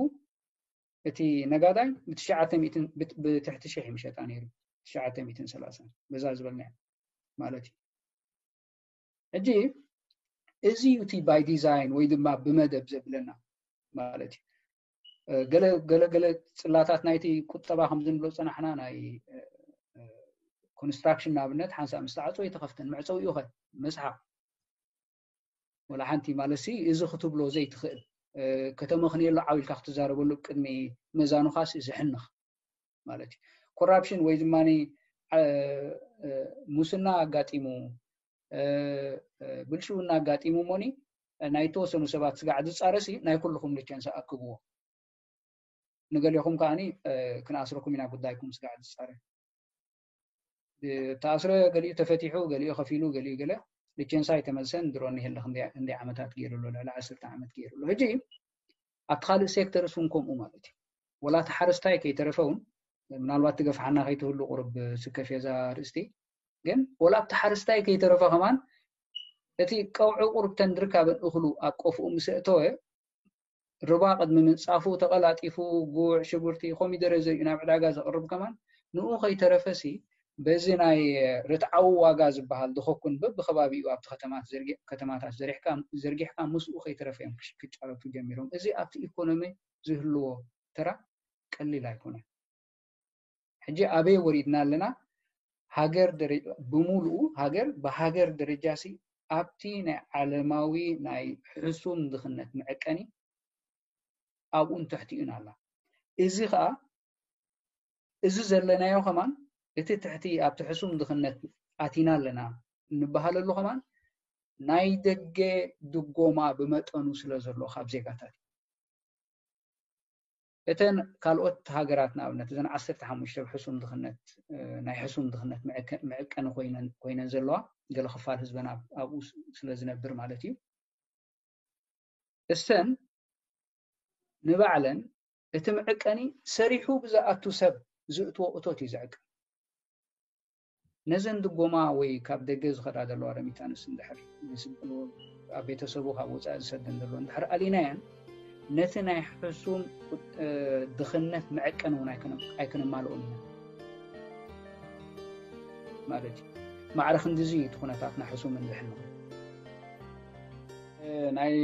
እቲ ነጋዳይ ብትሽዓተ ሚእትን ብትሕቲ ሽሕ ይምሸጣ ነይሩ። ትሽዓተ ሚእትን ሰላሳን በዛ ዝበልናዮ ማለት እዩ። ሕጂ እዚ እዩ እቲ ባይ ዲዛይን ወይ ድማ ብመደብ ዘብለና ማለት እዩ። ገለ ገለ ገለ ፅላታት ናይቲ ቁጠባ ከምዚ ንብሎ ዝፀናሕና ናይ ኮንስትራክሽን ንኣብነት ሓንሳእ ምስ ተዓፅወ ኣይተኸፍተን መዕፀዊኡ ኸ መስሓቕ ወላ ሓንቲ ማለት ሲ እዚ ክትብሎ ዘይትኽእል ከተመኽንየሉ ዓው ኢልካ ክትዛረበሉ ቅድሚ መዛኑኻስ እዚ ሕንኽ ማለት እዩ። ኮራፕሽን ወይ ድማ ሙስና ኣጋጢሙ ብልሽውና ኣጋጢሙ ሞኒ ናይ ተወሰኑ ሰባት ስጋዕ ዝፃረሲ ናይ ኩልኹም ልቸንስ ኣክብዎ። ንገሌኹም ከዓኒ ክንኣስረኩም ኢና ጉዳይኩም ስጋዕ ዝፃረ። ተኣስረ፣ ገሊኡ ተፈቲሑ፣ ገሊኡ ከፊሉ፣ ገሊኡ ገለ ልቸንሳ ኣይተመልሰን። ድሮ ንሄለ ክንደይ ዓመታት ገይሩ ኣሎ? ልዕሊ ዓሰርተ ዓመት ገይሩ ኣሎ። ሕጂ ኣብቲ ካልእ ሴክተርስ እውን ከምኡ ማለት እዩ። ወላ እቲ ሓረስታይ ከይተረፈ እውን፣ ምናልባት ትገፍሓና ከይትህሉ ቁርብ ስከፍ እየ እዛ ርእስቲ፣ ግን ወላ ኣብቲ ሓረስታይ ከይተረፈ ከማን እቲ ቀውዒ ቁርብተን ድርካበን እኽሉ ኣብ ቆፍኡ ምስ ኣእተወ፣ ርባ ቅድሚ ምንጻፉ ተቐላጢፉ ጉዕ፣ ሽጉርቲ፣ ኮሚደረ ዘሪኡ ናብ ዕዳጋ ዘቕርብ ከማን ንኡ ከይተረፈሲ በዚ ናይ ርትዓዊ ዋጋ ዝበሃል ዝኸኩን በብከባቢኡ ኣብቲ ከተማት ዘርጊ- ከተማታት ዘሪሕካ ዘርጊሕካ ምስኡ ከይተረፈ እዮም ክሽ- ክጫረቱ ጀሚሮም። እዚ ኣብቲ ኢኮኖሚ ዝህልዎ ተራ ቀሊል ኣይኮነን። ሕጂ ኣበይ ወሪድና ኣለና? ሃገር ደረ- ብምሉኡ ሃገር ብሃገር ደረጃ ሲ ኣብቲ ናይ ዓለማዊ ናይ ሕሱም ድኽነት መዐቀኒ ኣብኡን ትሕቲኡን ኣላ። እዚ ከዓ እዚ ዘለናዮ ከማን እቲ ትሕቲ ኣብቲ ሕሱም ድኽነት ኣቲና ኣለና እንበሃለሉ ከማን ናይ ደገ ድጎማ ብመጠኑ ስለ ዘሎ ካብ ዜጋታት እዩ። እተን ካልኦት ሃገራት ንኣብነት እዘን ዓሰርተ ሓሙሽተ ሕሱም ድኽነት እ፣ ናይ ሕሱም ድኽነት መዐከ- መዐቀኒ ኮይነን ኮይነን ዘለዋ ገለ ክፋል ህዝበን ኣብ- ኣብኡ ስ- ስለ ዝነብር ማለት እዩ። እሰን ንባዕለን እቲ መዐቀኒ ሰሪሑ ብዝኣቱ ሰብ ዝእትዎ እቶት እዩ ዝዕቀን። ነዘን ድጎማ ወይ ካብ ደገ ዝኸዳ ዘለዋ ረሚታንስ እንድሕር ኣብ ቤተሰቡ ካብ ወፃኢ ዝሰደን ዘሎ እንድሕር ኣሊናየን ነቲ ናይ ሕሱም ድኽነት መዐቀን እውን ኣይክነማልኦን ኢና ማለት እዩ። ማዕረ ክንድዚ እቲ ኩነታት ናይ ሕሱም እንድሕር ናይ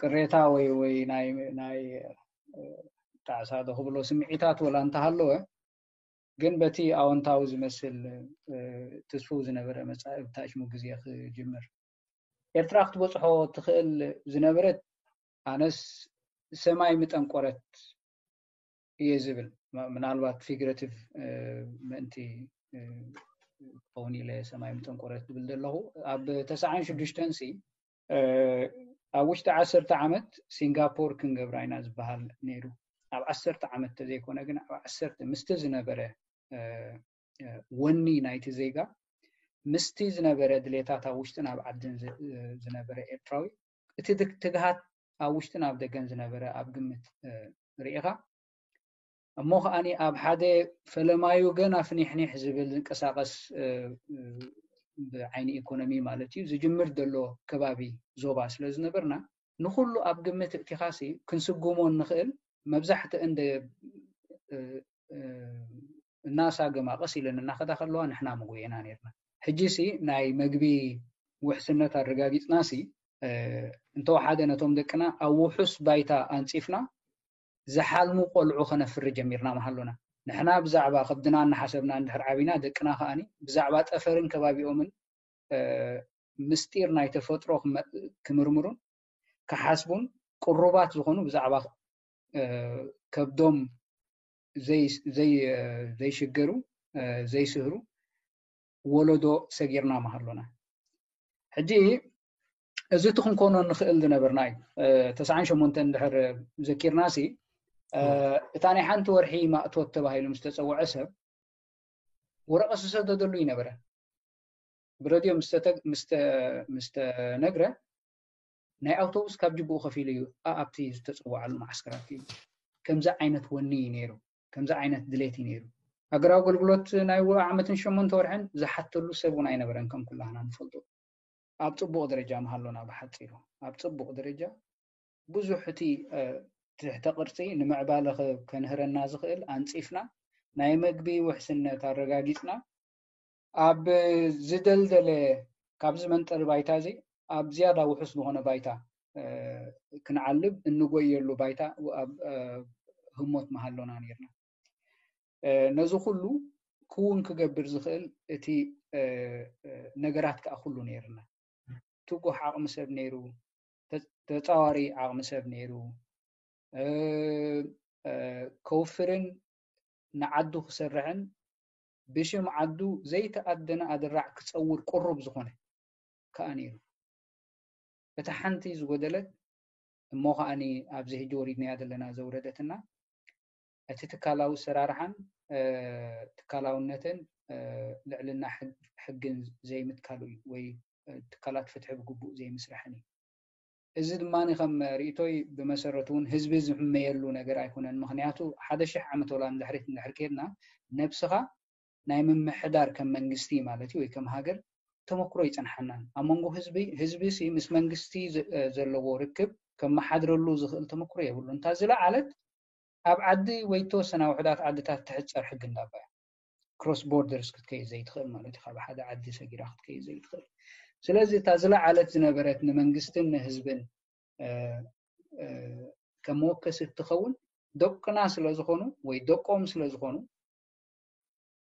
ቅሬታ ወይ ወይ ናይ ናይ ጣዕሳ ዶ ክብሎ ስምዒታት ወላ እንተሃለወ ግን በቲ ኣወንታዊ ዝመስል ትስፉው ዝነበረ መፃኢ ብታሽሙ ግዜ ክጅምር ኤርትራ ክትበፅሖ ትኽእል ዝነበረት ኣነስ ሰማይ ምጠንቆረት እየ ዝብል ምናልባት ፊግረቲቭ ምእንቲ ክኸውን ኢለ ሰማይ ምጠንቆረት ዝብል ዘለኹ ኣብ ተስዓን ሽዱሽተን ሲ ኣብ ውሽጢ ዓሰርተ ዓመት ሲንጋፖር ክንገብራ ኢና ዝበሃል ነይሩ ኣብ ዓሰርተ ዓመት ተዘይኮነ ግን ኣብ ዓሰርተ ምስቲ ዝነበረ ወኒ ናይቲ ዜጋ ምስቲ ዝነበረ ድሌታት ኣብ ውሽጥን ኣብ ዓድን ዝነበረ ኤርትራዊ እቲ ትግሃት ኣብ ውሽጥን ኣብ ደገን ዝነበረ ኣብ ግምት ርኢኻ እሞ ከዓኒ ኣብ ሓደ ፈለማዩ ገና ፍኒሕኒሕ ዝብል ዝንቀሳቀስ ብዓይኒ ኢኮኖሚ ማለት እዩ ዝጅምር ዘሎ ከባቢ ዞባ ስለ ዝነበርና ንኩሉ ኣብ ግምት እእቲኻሲ ክንስጉሞ እንኽእል መብዛሕትአን እናሳገማ ቀስ ኢለን እናኸዳ ከለዋ ንሕና ምጉዒና ነርና ሕጂ ሲ ናይ መግቢ ውሕስነት ኣረጋጊፅና ሲ እንተወሓደ ነቶም ደቅና ኣብ ውሑስ ባይታ ኣንፂፍና ዝሓልሙ ቆልዑ ከነፍሪ ጀሚርና ምሃሎና ንሕና ብዛዕባ ከብድና እናሓሰብና እንድሕር ዓቢና ደቅና ከዓኒ ብዛዕባ ጠፈርን ከባቢኦምን ምስጢር ናይ ተፈጥሮ ክምርምሩን ክሓስቡን ቅሩባት ዝኾኑ ብዛዕባ ከብዶም ዘይሽገሩ ዘይስህሩ ወለዶ ሰጊርና ምሃሎና ሕጂ እዚ እቲ ክንኮኖ ንኽእል ዝነበርና እዩ ተስዓን ሸሞንተን ድሕር ዘኪርና ሲ እታ ናይ ሓንቲ ወርሒ ማእቶት ተባሂሉ ምስ ተፀውዐ ሰብ ወረቐት ዝሰደደሉ ይነበረ ብረድዮ ምስ ተነግረ ናይ ኣውቶቡስ ካብ ጅብኡ ከፊሉ እዩ ኣብቲ ዝተፀዋዓሉ ማዓስከራት እዩ ከምዚ ዓይነት ወኒ እዩ ነይሩ ከምዚ ዓይነት ድሌት እዩ ነይሩ ሃገራዊ ኣገልግሎት ናይ ዓመትን ሸሞንተ ወርሕን ዝሓተሉ ሰብ እውን ኣይነበረን ከም ኩላህና ንፈልጦ ኣብ ፅቡቕ ደረጃ ምሃሎና ብሓፂሩ ኣብ ፅቡቕ ደረጃ ብዙሕ እቲ ትሕተ ቅርፂ ንምዕባለ ከንህረና ዝኽእል ኣንፂፍና ናይ መግቢ ውሕስነት ኣረጋጊፅና ኣብ ዝደልደለ ካብዚ መንጠሪ ባይታ እዚ ኣብ ዝያዳ ውሑስ ዝኾነ ባይታ ክንዓልብ እንጎየሉ ባይታ ኣብ ህሞት ምሃሎና ነርና ነዚ ኩሉ ክውን ክገብር ዝኽእል እቲ ነገራት ከዓ ኩሉ ነርና ትጉሕ ዓቕሚ ሰብ ነይሩ ተፃዋሪ ዓቕሚ ሰብ ነይሩ ከውፍርን ንዓዱ ክሰርሕን ብሽም ዓዱ ዘይተኣደነ ኣደራዕ ክፀውር ቅሩብ ዝኾነ ከዓ ነይሩ እቲ ሓንቲ ዝጎደለት እሞ ከዓኒ ኣብዚ ሕጂ ወሪድናያ ዘለና ዘውረደትና እቲ ትካላዊ ሰራርሓን ትካላውነትን ልዕልና ሕግን ዘይምትካሉ እዩ፣ ወይ ትካላት ፍትሒ ብግቡእ ዘይምስራሕን እዩ። እዚ ድማ ከም ርእቶይ ብመሰረቱ እውን ህዝቢ ዝሕመየሉ ነገር ኣይኮነን። ምክንያቱ ሓደ ሽሕ ዓመት ወላ ንድሕሪት እንድሕር ከድና፣ ነብስኻ ናይ ምምሕዳር ከም መንግስቲ ማለት እዩ ወይ ከም ሃገር ተመክሮ ይጸንሓናን። ኣብ መንጎ ህዝቢ ህዝቢ ሲ ምስ መንግስቲ ዘለዎ ርክብ ከመሓድረሉ ዝኽእል ተመክሮ የብሉ። እንታ ዝለዓለት ኣብ ዓዲ ወይ ተወሰና ውሕዳት ዓድታት ትሕጸር ሕጊ እንዳባ እያ። ክሮስ ቦርደርስ ክትከይድ ዘይትኽእል ማለት እዩ። ካብ ሓደ ዓዲ ሰጊራ ክትከይድ ዘይትኽእል። ስለዚ እታ ዝለዓለት ዝነበረት ንመንግስትን ንህዝብን ከም መወከሲ እትኸውን ደቅና ስለ ዝኾኑ ወይ ደቆም ስለ ዝኾኑ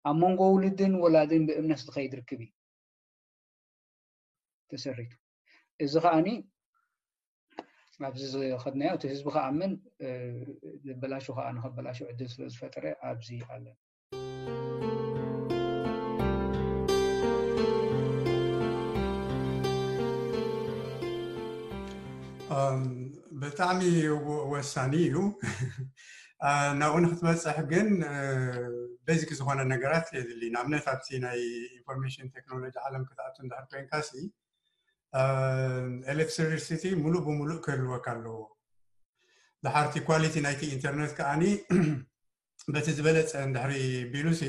ኣብ መንጎ ውልድን ወላድን ብእምነት ዝኸይድ ርክብ እዩ ተሰሪቱ። እዚ ከዓኒ ኣብዚ ዝኸድናዮ እቲ ህዝቢ ከኣምን፣ ዝበላሹ ከዓ ንኸበላሹ ዕድል ስለ ዝፈጠረ ኣብዚ ኣለን። ብጣዕሚ ወሳኒ እዩ። ናብኡ ንክትበፅሕ ግን ቤዚክ ዝኾነ ነገራት የድሊ። ንኣብነት ኣብቲ ናይ ኢንፎርሜሽን ቴክኖሎጂ ዓለም ክትኣቱ እንዳሕር ኮይንካ ሲ ኤሌክትሪሲቲ ሙሉእ ብሙሉእ ክህልወካ ኣለዎ። ድሓርቲ ኳሊቲ ናይቲ ኢንተርነት ከዓኒ በቲ ዝበለፀ እንድሕሪ ቢሉ ሲ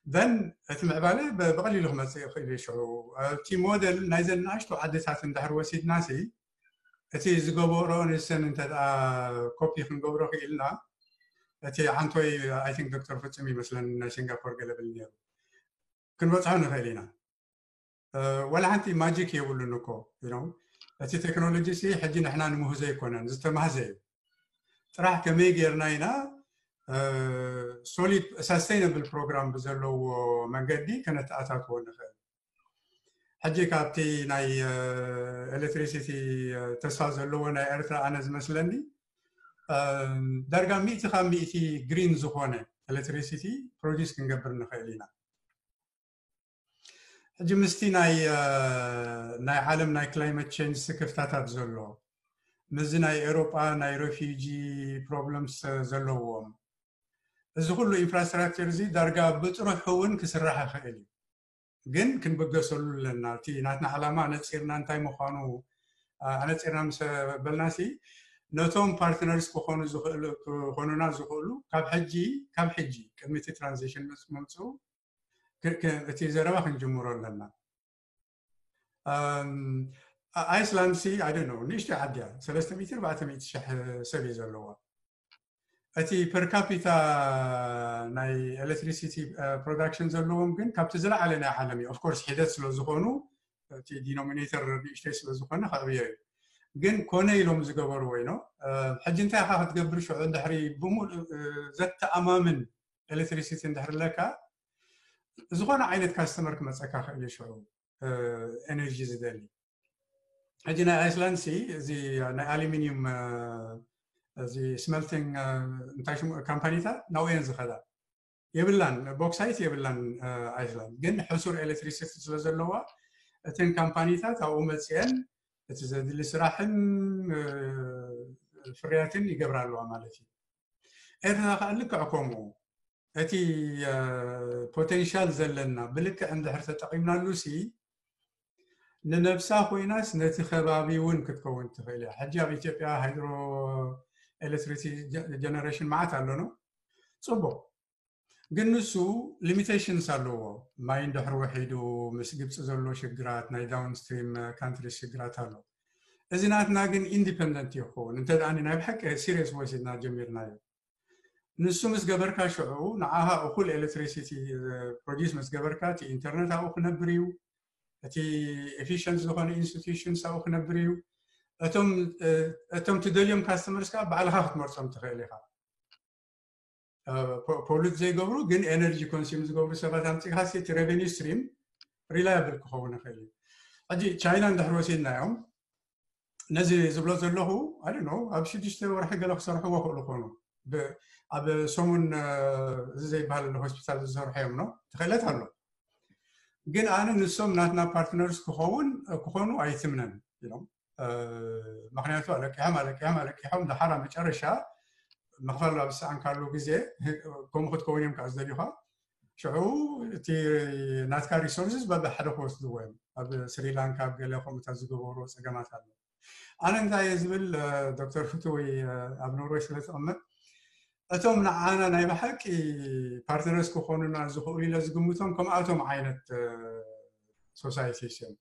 then እቲ ምዕባለ ብቐሊሉ ክመፅእ ይኽእል እዩ። ሽዑ እቲ ሞደል ናይዘን ንኣሽቱ ዓድታት እንድሕር ወሲድና ሲ እቲ ዝገበሮ ንሰን እንተ ኮፒ ክንገብሮ ክኢልና እቲ ሓንቶይ I think ዶክተር ፍጹም ይመስለን ናይ ሲንጋፖር ገለብል ነይሩ ክንበፅሖ ንኽእል ኢና። ወላ ሓንቲ ማጂክ የብሉን እኮ እቲ ቴክኖሎጂ ሲ ሕጂ ንሕና ንምህዞ ኣይኮነን ዝተማህዘ እዩ። ጥራሕ ከመይ ጌርና ኢና ሶሊድ ሳስቴይነብል ፕሮግራም ብዘለዎ መንገዲ ከነተኣታትዎ ንኽእል። ሕጂ ካብቲ ናይ ኤሌክትሪሲቲ ተስፋ ዘለዎ ናይ ኤርትራ ኣነ ዝመስለኒ ዳርጋ ሚእቲ ካብ ሚእቲ ግሪን ዝኾነ ኤሌክትሪሲቲ ፕሮዲስ ክንገብር ንኽእል ኢና። ሕጂ ምስቲ ናይ ናይ ዓለም ናይ ክላይመት ቼንጅ ስክፍታታት ዘሎ ምስዚ ናይ ኤሮጳ ናይ ሬፊጂ ፕሮብለምስ ዘለዎም እዚ ኩሉ ኢንፍራስትራክቸር እዚ ዳርጋ ብጥሩሑ እውን ክስራሕ ይኽእል እዩ። ግን ክንብገሰሉ ኣለና። እቲ ናትና ዓላማ ኣነፂርና እንታይ ምዃኑ ኣነፂርና ምስ በልናሲ ነቶም ፓርትነርስ ክኾኑ ዝኽእሉ ክኾኑና ዝኽእሉ ካብ ሕጂ ካብ ሕጂ ቅድሚ እቲ ትራንዚሽን ምስ ምምፅኡ እቲ ዘረባ ክንጅምሮ ኣለና። ኣይስላንድ ሲ ኣይ ዶንት ኖ ንእሽተይ ዓዲ እያ። ሰለስተ ሚእቲ ኣርባዕተ ሚእቲ ሽሕ ሰብ እዩ ዘለዋ። እቲ ፐር ካፒታ ናይ ኤሌክትሪሲቲ ፕሮዳክሽን ዘለዎም ግን ካብቲ ዝለዓለ ናይ ዓለም እዩ። ኦፍኮርስ ሒደት ስለ ዝኾኑ እቲ ዲኖሚኔተር ንእሽተይ ስለ ዝኾነ ከዕብዮ እዩ። ግን ኮነ ኢሎም ዝገበርዎ ኢኖ ሕጂ እንታይ ኢኻ ክትገብር ሽዑ እንድሕሪ ብሙሉእ ዘተኣማምን ኤሌክትሪሲቲ እንድሕር ኣለካ ዝኾነ ዓይነት ካስተመር ክመፀካ ክእል እዩ ሽዑ ኤነርጂ ዝደሊ። ሕጂ ናይ ኣይስላንድ ሲ እዚ ናይ ኣሉሚኒየም እዚ ስመልቲንግ እንታይ ሽሙ ካምፓኒታት ናብኡ እየን ዝኸዳ። የብላን ቦክሳይት የብላን ኣይስላንድ፣ ግን ሕሱር ኤሌክትሪሲቲ ስለ ዘለዋ እተን ካምፓኒታት ኣብኡ መፅአን እቲ ዘድሊ ስራሕን ፍርያትን ይገብራ ኣለዋ ማለት እዩ። ኤርትራ ከዓ ልክዕ ከምኡ እቲ ፖቴንሻል ዘለና ብልክዕ እንድሕር ተጠቒምናሉ ሲ ንነብሳ ኮይናስ ነቲ ከባቢ እውን ክትከውን ትኽእል እያ። ሕጂ ኣብ ኢትዮጵያ ሃይድሮ ኤሌክትሪክ ጀነሬሽን መዓት ኣሎ ነው ጽቡቕ፣ ግን ንሱ ሊሚቴሽንስ ኣለዎ። ማይ እንድሕር ውሒዱ ምስ ግብፂ ዘሎ ሽግራት ናይ ዳውንስትሪም ካንትሪስ ሽግራት ኣሎ። እዚ ናትና ግን ኢንዲፐንደንት ይኸውን እንተ ደኣ ናይ ብሓቂ ሲሪየስ ወሲድና ጀሚርናዮ። ንሱ ምስ ገበርካ ሽዑ ንዓኻ እኹል ኤሌክትሪሲቲ ፕሮዲስ ምስ ገበርካ እቲ ኢንተርነት ኣብኡ ክነብር እዩ፣ እቲ ኤፊሽንት ዝኾነ ኢንስቲቱሽንስ ኣብኡ ክነብር እዩ። እቶም ትደልዮም ካስተመርስ ከዓ ባዕልኻ ክትመርፆም ትኽእል ኢኻ። ፖሉት ዘይገብሩ ግን ኤነርጂ ኮንሱም ዝገብሩ ሰባት ኣምፂእካ እቲ ሬቨኒ ስትሪም ሪላያብል ክኸውን ይኽእል እዩ። ሕጂ ቻይና እንድሕር ወሲድናዮም ነዚ ዝብሎ ዘለኹ ኣይ ዶንት ኖ ኣብ ሽዱሽተ ወርሒ ገለ ክሰርሕዎ ክእሉ ኮኑ። ኣብ ሰሙን እዚ ዘይበሃል ሆስፒታል ዝሰርሑ እዮም ነው ትኽእለት ኣሎ። ግን ኣነ ንሶም ናትና ፓርትነርስ ክኸውን ክኾኑ ኣይትምነን ኢሎም። ምክንያቱ ኣለቂሖም ኣለቂሖም ኣለቂሖም ደሓር ኣብ መጨረሻ ምኽፋል ኣብ ዝሰኣንካሉ ግዜ ከምኡ ክትከውን እዮም ከዓ ዝደልዩኻ። ሽዑ እቲ ናትካ resources በብሓደ ክወስድዎ እዮም። ኣብ ስሪላንካ ኣብ ገለ ከምኡታት ዝገበሩ ፀገማት ኣሎ። ኣነ እንታይ እየ ዝብል፣ ዶክተር ፍትዊ፣ ኣብ ኖርወይ ስለ ትቕመጥ፣ እቶም ንዓና ናይ ብሓቂ ፓርትነርስ ክኾኑና ዝኽእሉ ኢለ ዝግምቶም ከምኣቶም ዓይነት ሶሳይቲስ እዮም።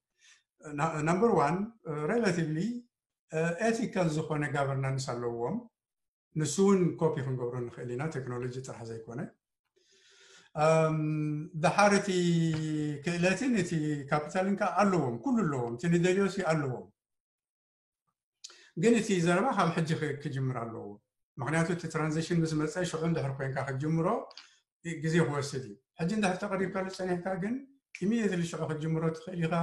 ናምበር ዋን፣ ሬላቲቭሊ ኤቲካል ዝኾነ ጋቨርናንስ ኣለዎም። ንሱ እውን ኮፒ ክንገብሮ ንኽእል ኢና፣ ቴክኖሎጂ ጥራሕ ዘይኮነ። ደሓር እቲ ክእለትን እቲ ካፒታልን ከዓ ኣለዎም፣ ኩሉ ኣለዎም፣ እቲ ንደልዮሲ ኣለዎም። ግን እቲ ዘረባ ካብ ሕጂ ክጅምር ኣለዎ። ምክንያቱ እቲ ትራንዚሽን ምስ መፀ ሽዑ እንድሕር ኮይንካ ክትጅምሮ ግዜ ክወስድ እዩ። ሕጂ እንድሕር ተቐሪብካሉ ፀኒሕካ ግን ኢሚዲየትሊ ሽዑ ክትጅምሮ ትኽእል ኢኻ።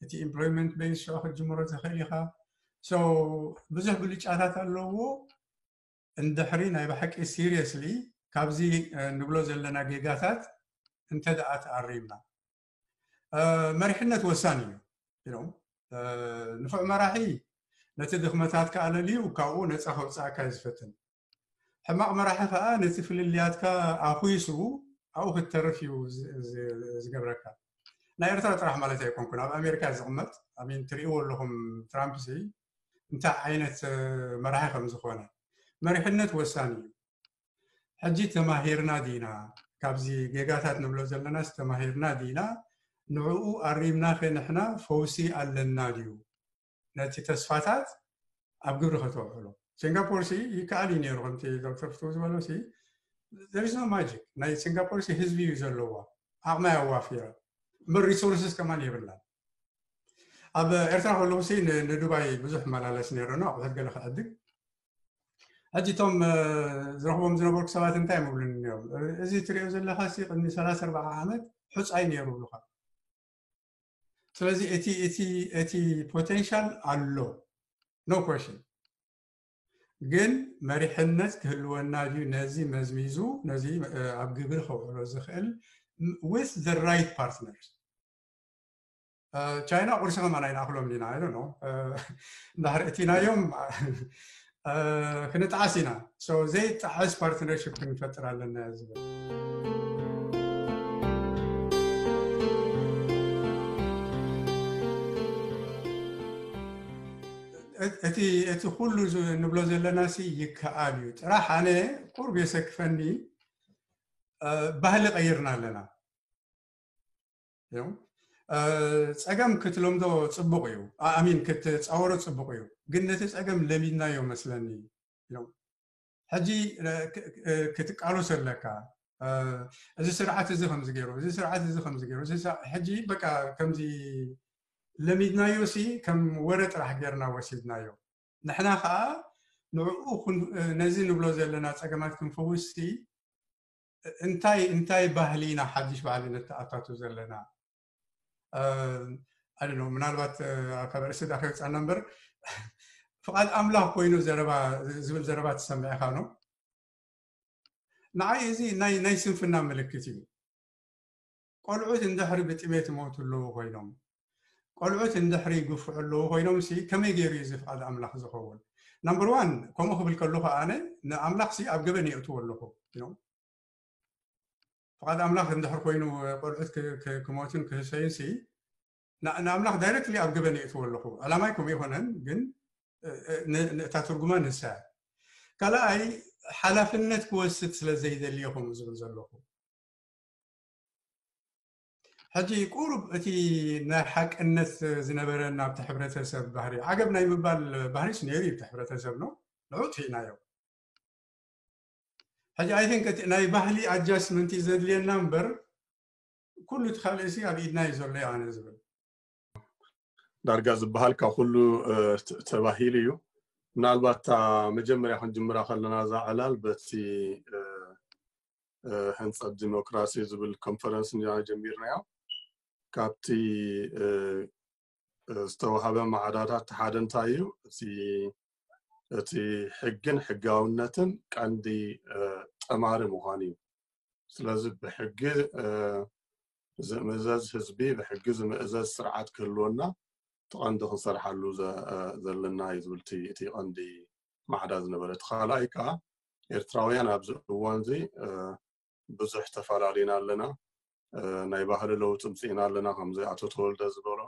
እቲ ኢምፕሎይመንት ቤዝ ሽዑ ክትጅምሮ ትኽእል ኢኻ። ብዙሕ ብልጫታት ኣለዎ። እንድሕሪ ናይ ብሓቂ ሲሪየስሊ ካብዚ ንብሎ ዘለና ጌጋታት እንተ ደኣ ተኣሪምና፣ መሪሕነት ወሳኒ እዩ። ንፉዕ መራሒ ነቲ ድኽመታትካ ኣለልዩ ካብኡ ነፃ ከውፅኣካ እዩ ዝፈትን። ሕማቕ መራሒ ከዓ ነቲ ፍልልያትካ ኣኹይሱ ኣብኡ ክትተርፍ እዩ ዝገብረካ። ናይ ኤርትራ ጥራሕ ማለት ኣይኮንኩን፣ ኣብ ኣሜሪካ ዝቕመጥ ኣሚን ትርእይዎ ኣለኹም። ትራምፕ ሲ እንታይ ዓይነት መራሒ ከም ዝኾነ። መሪሕነት ወሳኒ እዩ። ሕጂ ተማሂርና ዲና? ካብዚ ጌጋታት ንብሎ ዘለናስ ተማሂርና ዲና? ንዕኡ ኣሪምናኸ ንሕና ፈውሲ ኣለና ድዩ? ነቲ ተስፋታት ኣብ ግብሪ ከተውዕሎ። ሲንጋፖር ሲ ይከኣል እዩ ነይሩ፣ ከምቲ ዶክተር ፍትው ዝበሎ ሲ there is no magic። ናይ ሲንጋፖር ሲ ህዝቢ እዩ ዘለዋ፣ ዓቕማ ኣዋፊራ፣ እምበር ሪሶርስስ ከማን የብላን። ኣብ ኤርትራ ከለኹ ሲ ንዱባይ ብዙሕ መላለስ ነይረ፣ ኣቑሑት ገለ ክዕድግ። ሕጂ እቶም ዝረኽቦም ዝነበርኩ ሰባት እንታይ ምብሉኒ እዮም፣ እዚ ትሪኦ ዘለኻ ሲ ቅድሚ ሰላሳ ኣርባዓ ዓመት ሑፃይ ነይሩ ብሉኻ። ስለዚ እቲ እቲ እቲ ፖቴንሻል ኣሎ፣ no question። ግን መሪሕነት ክህልወና ድዩ ነዚ መዝሚዙ ነዚ ኣብ ግብሪ ከውዕሎ ዝኽእል with the right partners? ቻይና ቁርሲ ከማን ኣይንኣኽሎም ዲና? I don't know። እንድሕር እቲናዮም ክንጠዓስ ኢና። ዘይጠዓስ ፓርትነርሽፕ ክንፈጥር ኣለና ዝብል። እቲ ኩሉ ንብሎ ዘለና ሲ ይከኣል እዩ። ጥራሕ ኣነ ቁርብ የሰክፈኒ፣ ባህሊ ቀይርና ኣለና። ጸገም ክትለምዶ ጽቡቕ እዩ፣ ኣሚን ክትጻወሮ ጽቡቕ እዩ። ግን ነቲ ጸገም ለሚድናዮ መስለኒ። ሕጂ ክትቃለሶ ኣለካ። እዚ ስርዓት እዚ ከምዚ ገይሩ፣ እዚ ስርዓት እዚ ከምዚ ገይሩ፣ ሕጂ በቃ ከምዚ ለሚድናዮ ሲ ከም ወረ ጥራሕ ጌርና ወሲድናዮ። ንሕና ከዓ ንዕኡ ነዚ ንብሎ ዘለና ጸገማት ክንፈውስ ሲ እንታይ እንታይ ባህሊ ኢና ሓድሽ ባህሊ ነተኣታቱ ዘለና? ኣይ ዶንት ኖ፣ ምናልባት ካብ ርእሲ ዳ ከይወፃና እምበር ፍቓድ ኣምላኽ ኮይኑ ዘረባ ዝብል ዘረባ ትሰምዕ ኢኻ ነው። ንዓይ እዚ ናይ ናይ ስንፍና ምልክት እዩ። ቆልዑት እንድሕሪ ብጥሜት ይሞቱ ኣለዉ ኮይኖም፣ ቆልዑት እንድሕሪ ይግፍዑ ኣለዉ ኮይኖም ሲ ከመይ ገይሩ እዩ እዚ ፍቓድ ኣምላኽ ዝኸውን? ናምበር ዋን ከምኡ ክብል ከለኹ ኣነ ንኣምላኽ ሲ ኣብ ገበን የእትዎ ኣለኹ። ፍቓድ ኣምላኽ እንድሕር ኮይኑ ቆልዑት ክሞትን ክህሰዩን ሲ ንኣምላኽ ዳይረክትሊ ኣብ ገበን የእትዎ ኣለኹ። ዕላማይ ከምኡ ይኮነን፣ ግን እታ ትርጉማ ንሳ ካልኣይ ሓላፍነት ክወስድ ስለ ዘይደልዮ ከምኡ ዝብል ዘለኹ። ሕጂ ቁሩብ እቲ ናይ ሓቅነት ዝነበረ ናብቲ ሕብረተሰብ ባህሪ ዓገብ ናይ ምባል ባህሪስ ነይሩ እዩ። እቲ ሕብረተሰብ ነው ንዑ ትኢናዮ። ሕጂ ኣይ ቲንክ እቲ ናይ ባህሊ ኣጃስትመንት እዩ ዘድልየና እምበር ኩሉ እቲ ካልእ ሲ ኣብ ኢድና እዩ ዘሎ ኣነ ዝብል። ዳርጋ ዝበሃል ካብ ኩሉ ተባሂሉ እዩ። ምናልባት እታ መጀመርያ ክንጅምራ ከለና እዛ ዕላል በቲ ህንፀት ዲሞክራሲ ዝብል ኮንፈረንስ ኢና ጀሚርናዮ። ካብቲ ዝተዋሃበ ማዕዳታት ሓደ እንታይ እዩ? እቲ ሕግን ሕጋውነትን ቀንዲ ጠማሪ ምዃን እዩ። ስለዚ ብሕጊ ዝምእዘዝ ህዝቢ፣ ብሕጊ ዝምእዘዝ ስርዓት ክህልወና እቲ ቀንዲ ክንሰርሓሉ ዘለና እዩ ዝብል እቲ ቀንዲ ማዕዳ ዝነበረ። እቲ ካልኣይ ከዓ ኤርትራውያን ኣብዚ እዋን እዚ ብዙሕ ተፈላለዩና ኣለና። ናይ ባህሪ ለውጢ ምፅእና ኣለና። ከምዚ ኣቶ ተወልደ ዝበሎ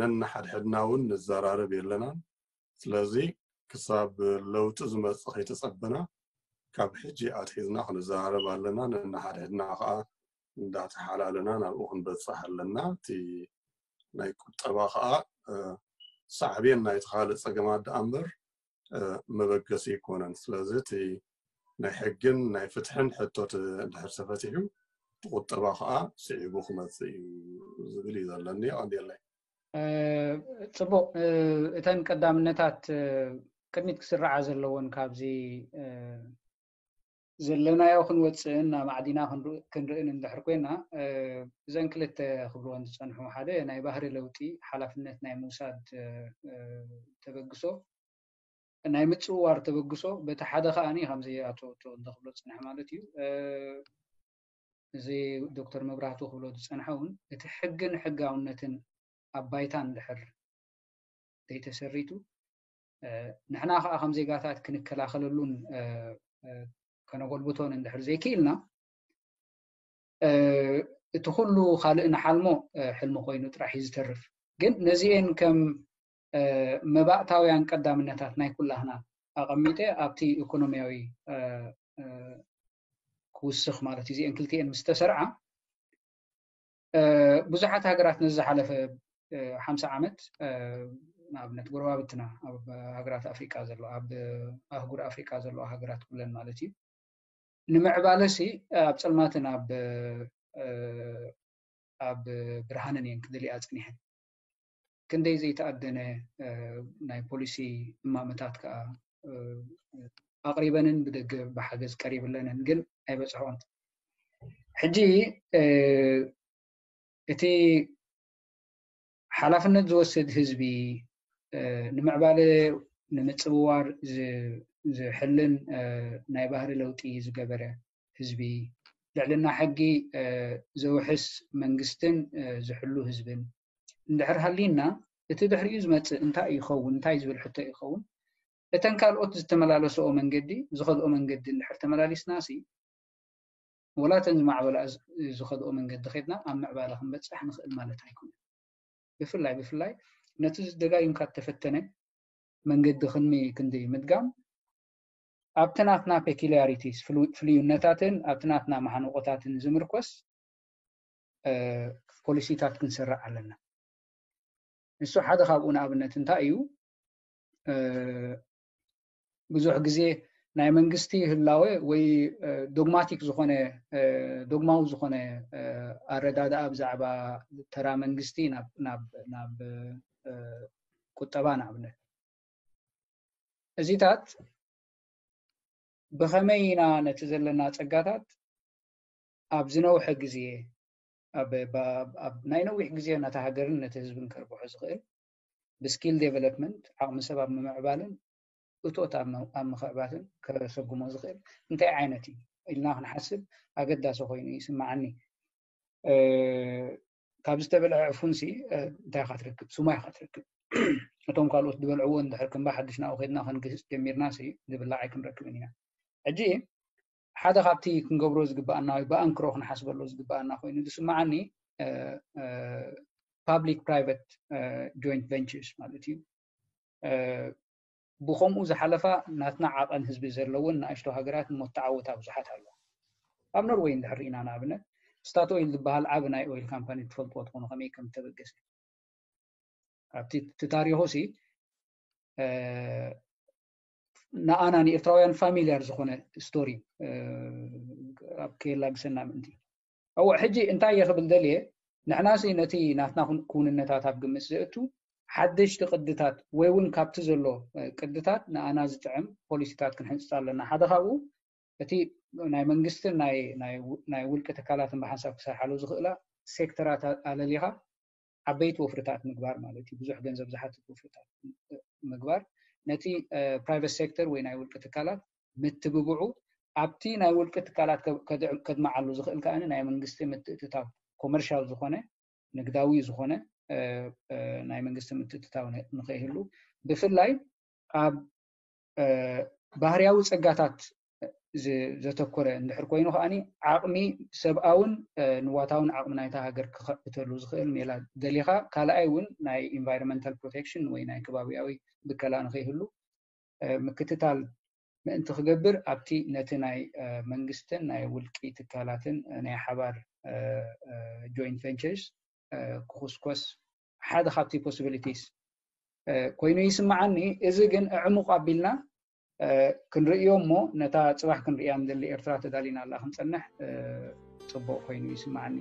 ነንሓድሕድና እውን ንዘራረብ የለናን። ስለዚ ክሳብ ለውጢ ዝመፅእ ከይተፀበና ካብ ሕጂ ኣትሒዝና ክንዘራረብ ኣለና። ነንሓድሕድና ከዓ እንዳተሓላለና ናብኡ ክንበፅሕ ኣለና። እቲ ናይ ቁጠባ ከዓ ሳዕቤን ናይቲ ካልእ ፀገማት ደኣ እምበር መበገሲ ኣይኮነን። ስለዚ እቲ ናይ ሕግን ናይ ፍትሕን ሕቶት እንድሕር ተፈቲሑ እቲ ቁጠባ ከዓ ስዒቡ ክመፅእ እዩ ዝብል እዩ ዘለኒ። ቀንዴለይ። ፅቡቅ። እተን ቀዳምነታት ቅድሚት ክስርዓ ዘለዎን ካብዚ ዘለናዮ ክንወፅእን ናብ ማዕዲና ክንርእን እንድሕር ኮይና፣ እዘን ክልተ ክብልወን ዝፀንሑ ሓደ ናይ ባህሪ ለውጢ ሓላፍነት ናይ ምውሳድ ተበግሶ፣ ናይ ምፅውዋር ተበግሶ በቲ ሓደ ከዓኒ ከምዚ ኣቶ ተወልደ ክብሎ ዝፀንሐ ማለት እዩ። እዚ ዶክተር መብራህቱ ክብሎ ዝፀንሐ እውን እቲ ሕግን ሕጋውነትን ኣብ ባይታ እንድሕር ዘይተሰሪቱ ንሕና ከዓ ከም ዜጋታት ክንከላኸለሉን ከነጎልብቶን እንድሕር ዘይክኢልና እቲ ኩሉ ካልእ ንሓልሞ ሕልሚ ኮይኑ ጥራሕ እዩ ዝተርፍ። ግን ነዚኤን ከም መባእታውያን ቀዳምነታት ናይ ኩላህና ኣቐሚጠ ኣብቲ ኢኮኖሚያዊ ክውስኽ ማለት እዩ። እዚአን ክልቲኤን ምስ ተሰርዓ ብዙሓት ሃገራት ነዚ ዝሓለፈ ሓምሳ ዓመት ንኣብነት ጎረባብትና ኣብ ሃገራት ኣፍሪቃ ዘሎ ኣብ ኣህጉር ኣፍሪቃ ዘለዋ ሃገራት ኩለን ማለት እዩ ንምዕባለሲ ኣብ ፀልማትን ኣብ ኣብ ብርሃንን እየን ክደልያ ፀኒሐን። ክንደይ ዘይተኣደነ ናይ ፖሊሲ እማመታት ከዓ ኣቕሪበንን ብደገ ብሓገዝ ቀሪብለንን ግን ኣይበፅሕኦን። ሕጂ እቲ ሓላፍነት ዝወስድ ህዝቢ ንምዕባለ ንምፅውዋር ዝሕልን ናይ ባህሪ ለውጢ ዝገበረ ህዝቢ ልዕልና ሕጊ ዘውሕስ መንግስትን ዝሕሉ ህዝብን እንድሕር ሃሊና እቲ ድሕሪኡ ዝመፅእ እንታይ ይኸውን እንታይ ዝብል ሕቶ ይኸውን። እተን ካልኦት ዝተመላለስኦ መንገዲ ዝኸድኦ መንገዲ እንድሕር ተመላሊስና ሲ ወላ እተን ዝማዕበላ ዝኸድኦ መንገዲ ከድና ኣብ ምዕባለ ክንበፅሕ ንኽእል ማለት ኣይኮነን። ብፍላይ ብፍላይ ነቲ ደጋጊምካ እተፈተነ መንገዲ ክንሚ ክንዲ ምድጋም ኣብቲ ናትና peculiarities ፍልዩነታትን ኣብቲ ናትና ማሓንቆታትን ዝምርኮስ ፖሊሲታት ክንሰርዕ ኣለና። ንሱ ሓደ ካብኡ ንኣብነት እንታይ እዩ ብዙሕ ግዜ ናይ መንግስቲ ህላወ ወይ ዶግማቲክ ዝኾነ ዶግማዊ ዝኾነ ኣረዳድኣ ብዛዕባ ተራ መንግስቲ ናብ ቁጠባ ንኣብነት እዚታት ብኸመይ ኢና ነቲ ዘለና ጸጋታት ኣብ ዝነውሐ ግዜ ኣብ ናይ ነዊሕ ግዜ ነቲ ሃገርን ነቲ ህዝብን ከርብሖ ዝኽእል ብskill development ዓቕሚ ሰብ ኣብ ምምዕባልን እቶት ኣብ ምኽዕባትን ከሰጉሞ ዝኽእል እንታይ ዓይነት እዩ ኢልና ክንሓስብ ኣገዳሲ ኮይኑ ይስምዓኒ። ካብ ዝተበልዐ ዕፉንሲ እንታይ ኢኻ ትረክብ? ሱማ ኢኻ ትረክብ። እቶም ካልኦት ዝበልዕዎ እንድሕር ክንባ ሓድሽ ናብኡ ከድና ክንግህፅ ጀሚርና ሲ ዝብላዕ ኣይክንረክብን ኢና። ሕጂ ሓደ ካብቲ ክንገብሮ ዝግባኣና ወይ ብኣንክሮ ክንሓስበሉ ዝግባኣና ኮይኑ ዝስምዓኒ public private joint ventures ማለት እዩ። ብኸምኡ ዝሓለፋ ናትና ዓቐን ህዝቢ ዘለውን ንኣሽቶ ሃገራት እሞ እተዓወታ ብዙሓት ኣለዋ። ኣብ ኖርወይ እንድሕር ርኢና ንኣብነት Statoil ዝበሃል ዓቢ ናይ ኦይል ካምፓኒ ትፈልጥዎ ትኾኑ ከመይ ከም እተበገሰ ኣብቲ እቲ ታሪኹ ሲ ንኣና ንኤርትራውያን familiar ዝኾነ story ኣብ ከየላግሰና ምእንቲ። እወ ሕጂ እንታይ እየ ክብል ደልየ ንሕና ሲ ነቲ ናትና ክውንነታት ኣብ ግምት ዘእቱ ሓደሽቲ ቅድታት ወይ እውን ካብቲ ዘሎ ቅድታት ንኣና ዝጥዕም ፖሊሲታት ክንሕንፅፅ ኣለና። ሓደ ካብኡ እቲ ናይ መንግስትን ናይ ውልቂ ትካላትን ብሓንሳብ ክሰርሓሉ ዝኽእላ ሴክተራት ኣለሊኻ ዓበይቲ ወፍርታት ምግባር ማለት እዩ። ብዙሕ ገንዘብ ዝሓትት ወፍርታት ምግባር ነቲ private sector ወይ ናይ ውልቂ ትካላት ምትብብዑ ኣብቲ ናይ ውልቂ ትካላት ከድምዓሉ ዝኽእል ከዓ ናይ መንግስቲ ምትእትታው commercial ዝኾነ ንግዳዊ ዝኾነ ናይ መንግስቲ ምትእትታው ንኸይህሉ ብፍላይ ኣብ ባህርያዊ ፀጋታት ዘተኮረ እንድሕር ኮይኑ ከዓኒ ዓቕሚ ሰብኣውን ንዋታውን ዓቕሚ ናይታ ሃገር ክኸዕብተሉ ዝኽእል ሜላ ደሊኻ፣ ካልኣይ እውን ናይ environmental protection ወይ ናይ ከባቢያዊ ብከላ ንኸይህሉ ምክትታል ምእንቲ ክገብር ኣብቲ ነቲ ናይ መንግስትን ናይ ውልቂ ትካላትን ናይ ሓባር joint ventures ክኹስኮስ ሓደ ካብቲ possibilities ኮይኑ ይስምዓኒ። እዚ ግን ዕሙቕ ኣቢልና ክንርእዮ እሞ ነታ ጽባሕ ክንርእያ ንደሊ ኤርትራ ተዳሊና ኣላ ክንጸንሕ ጽቡቕ ኮይኑ ይስምዓኒ።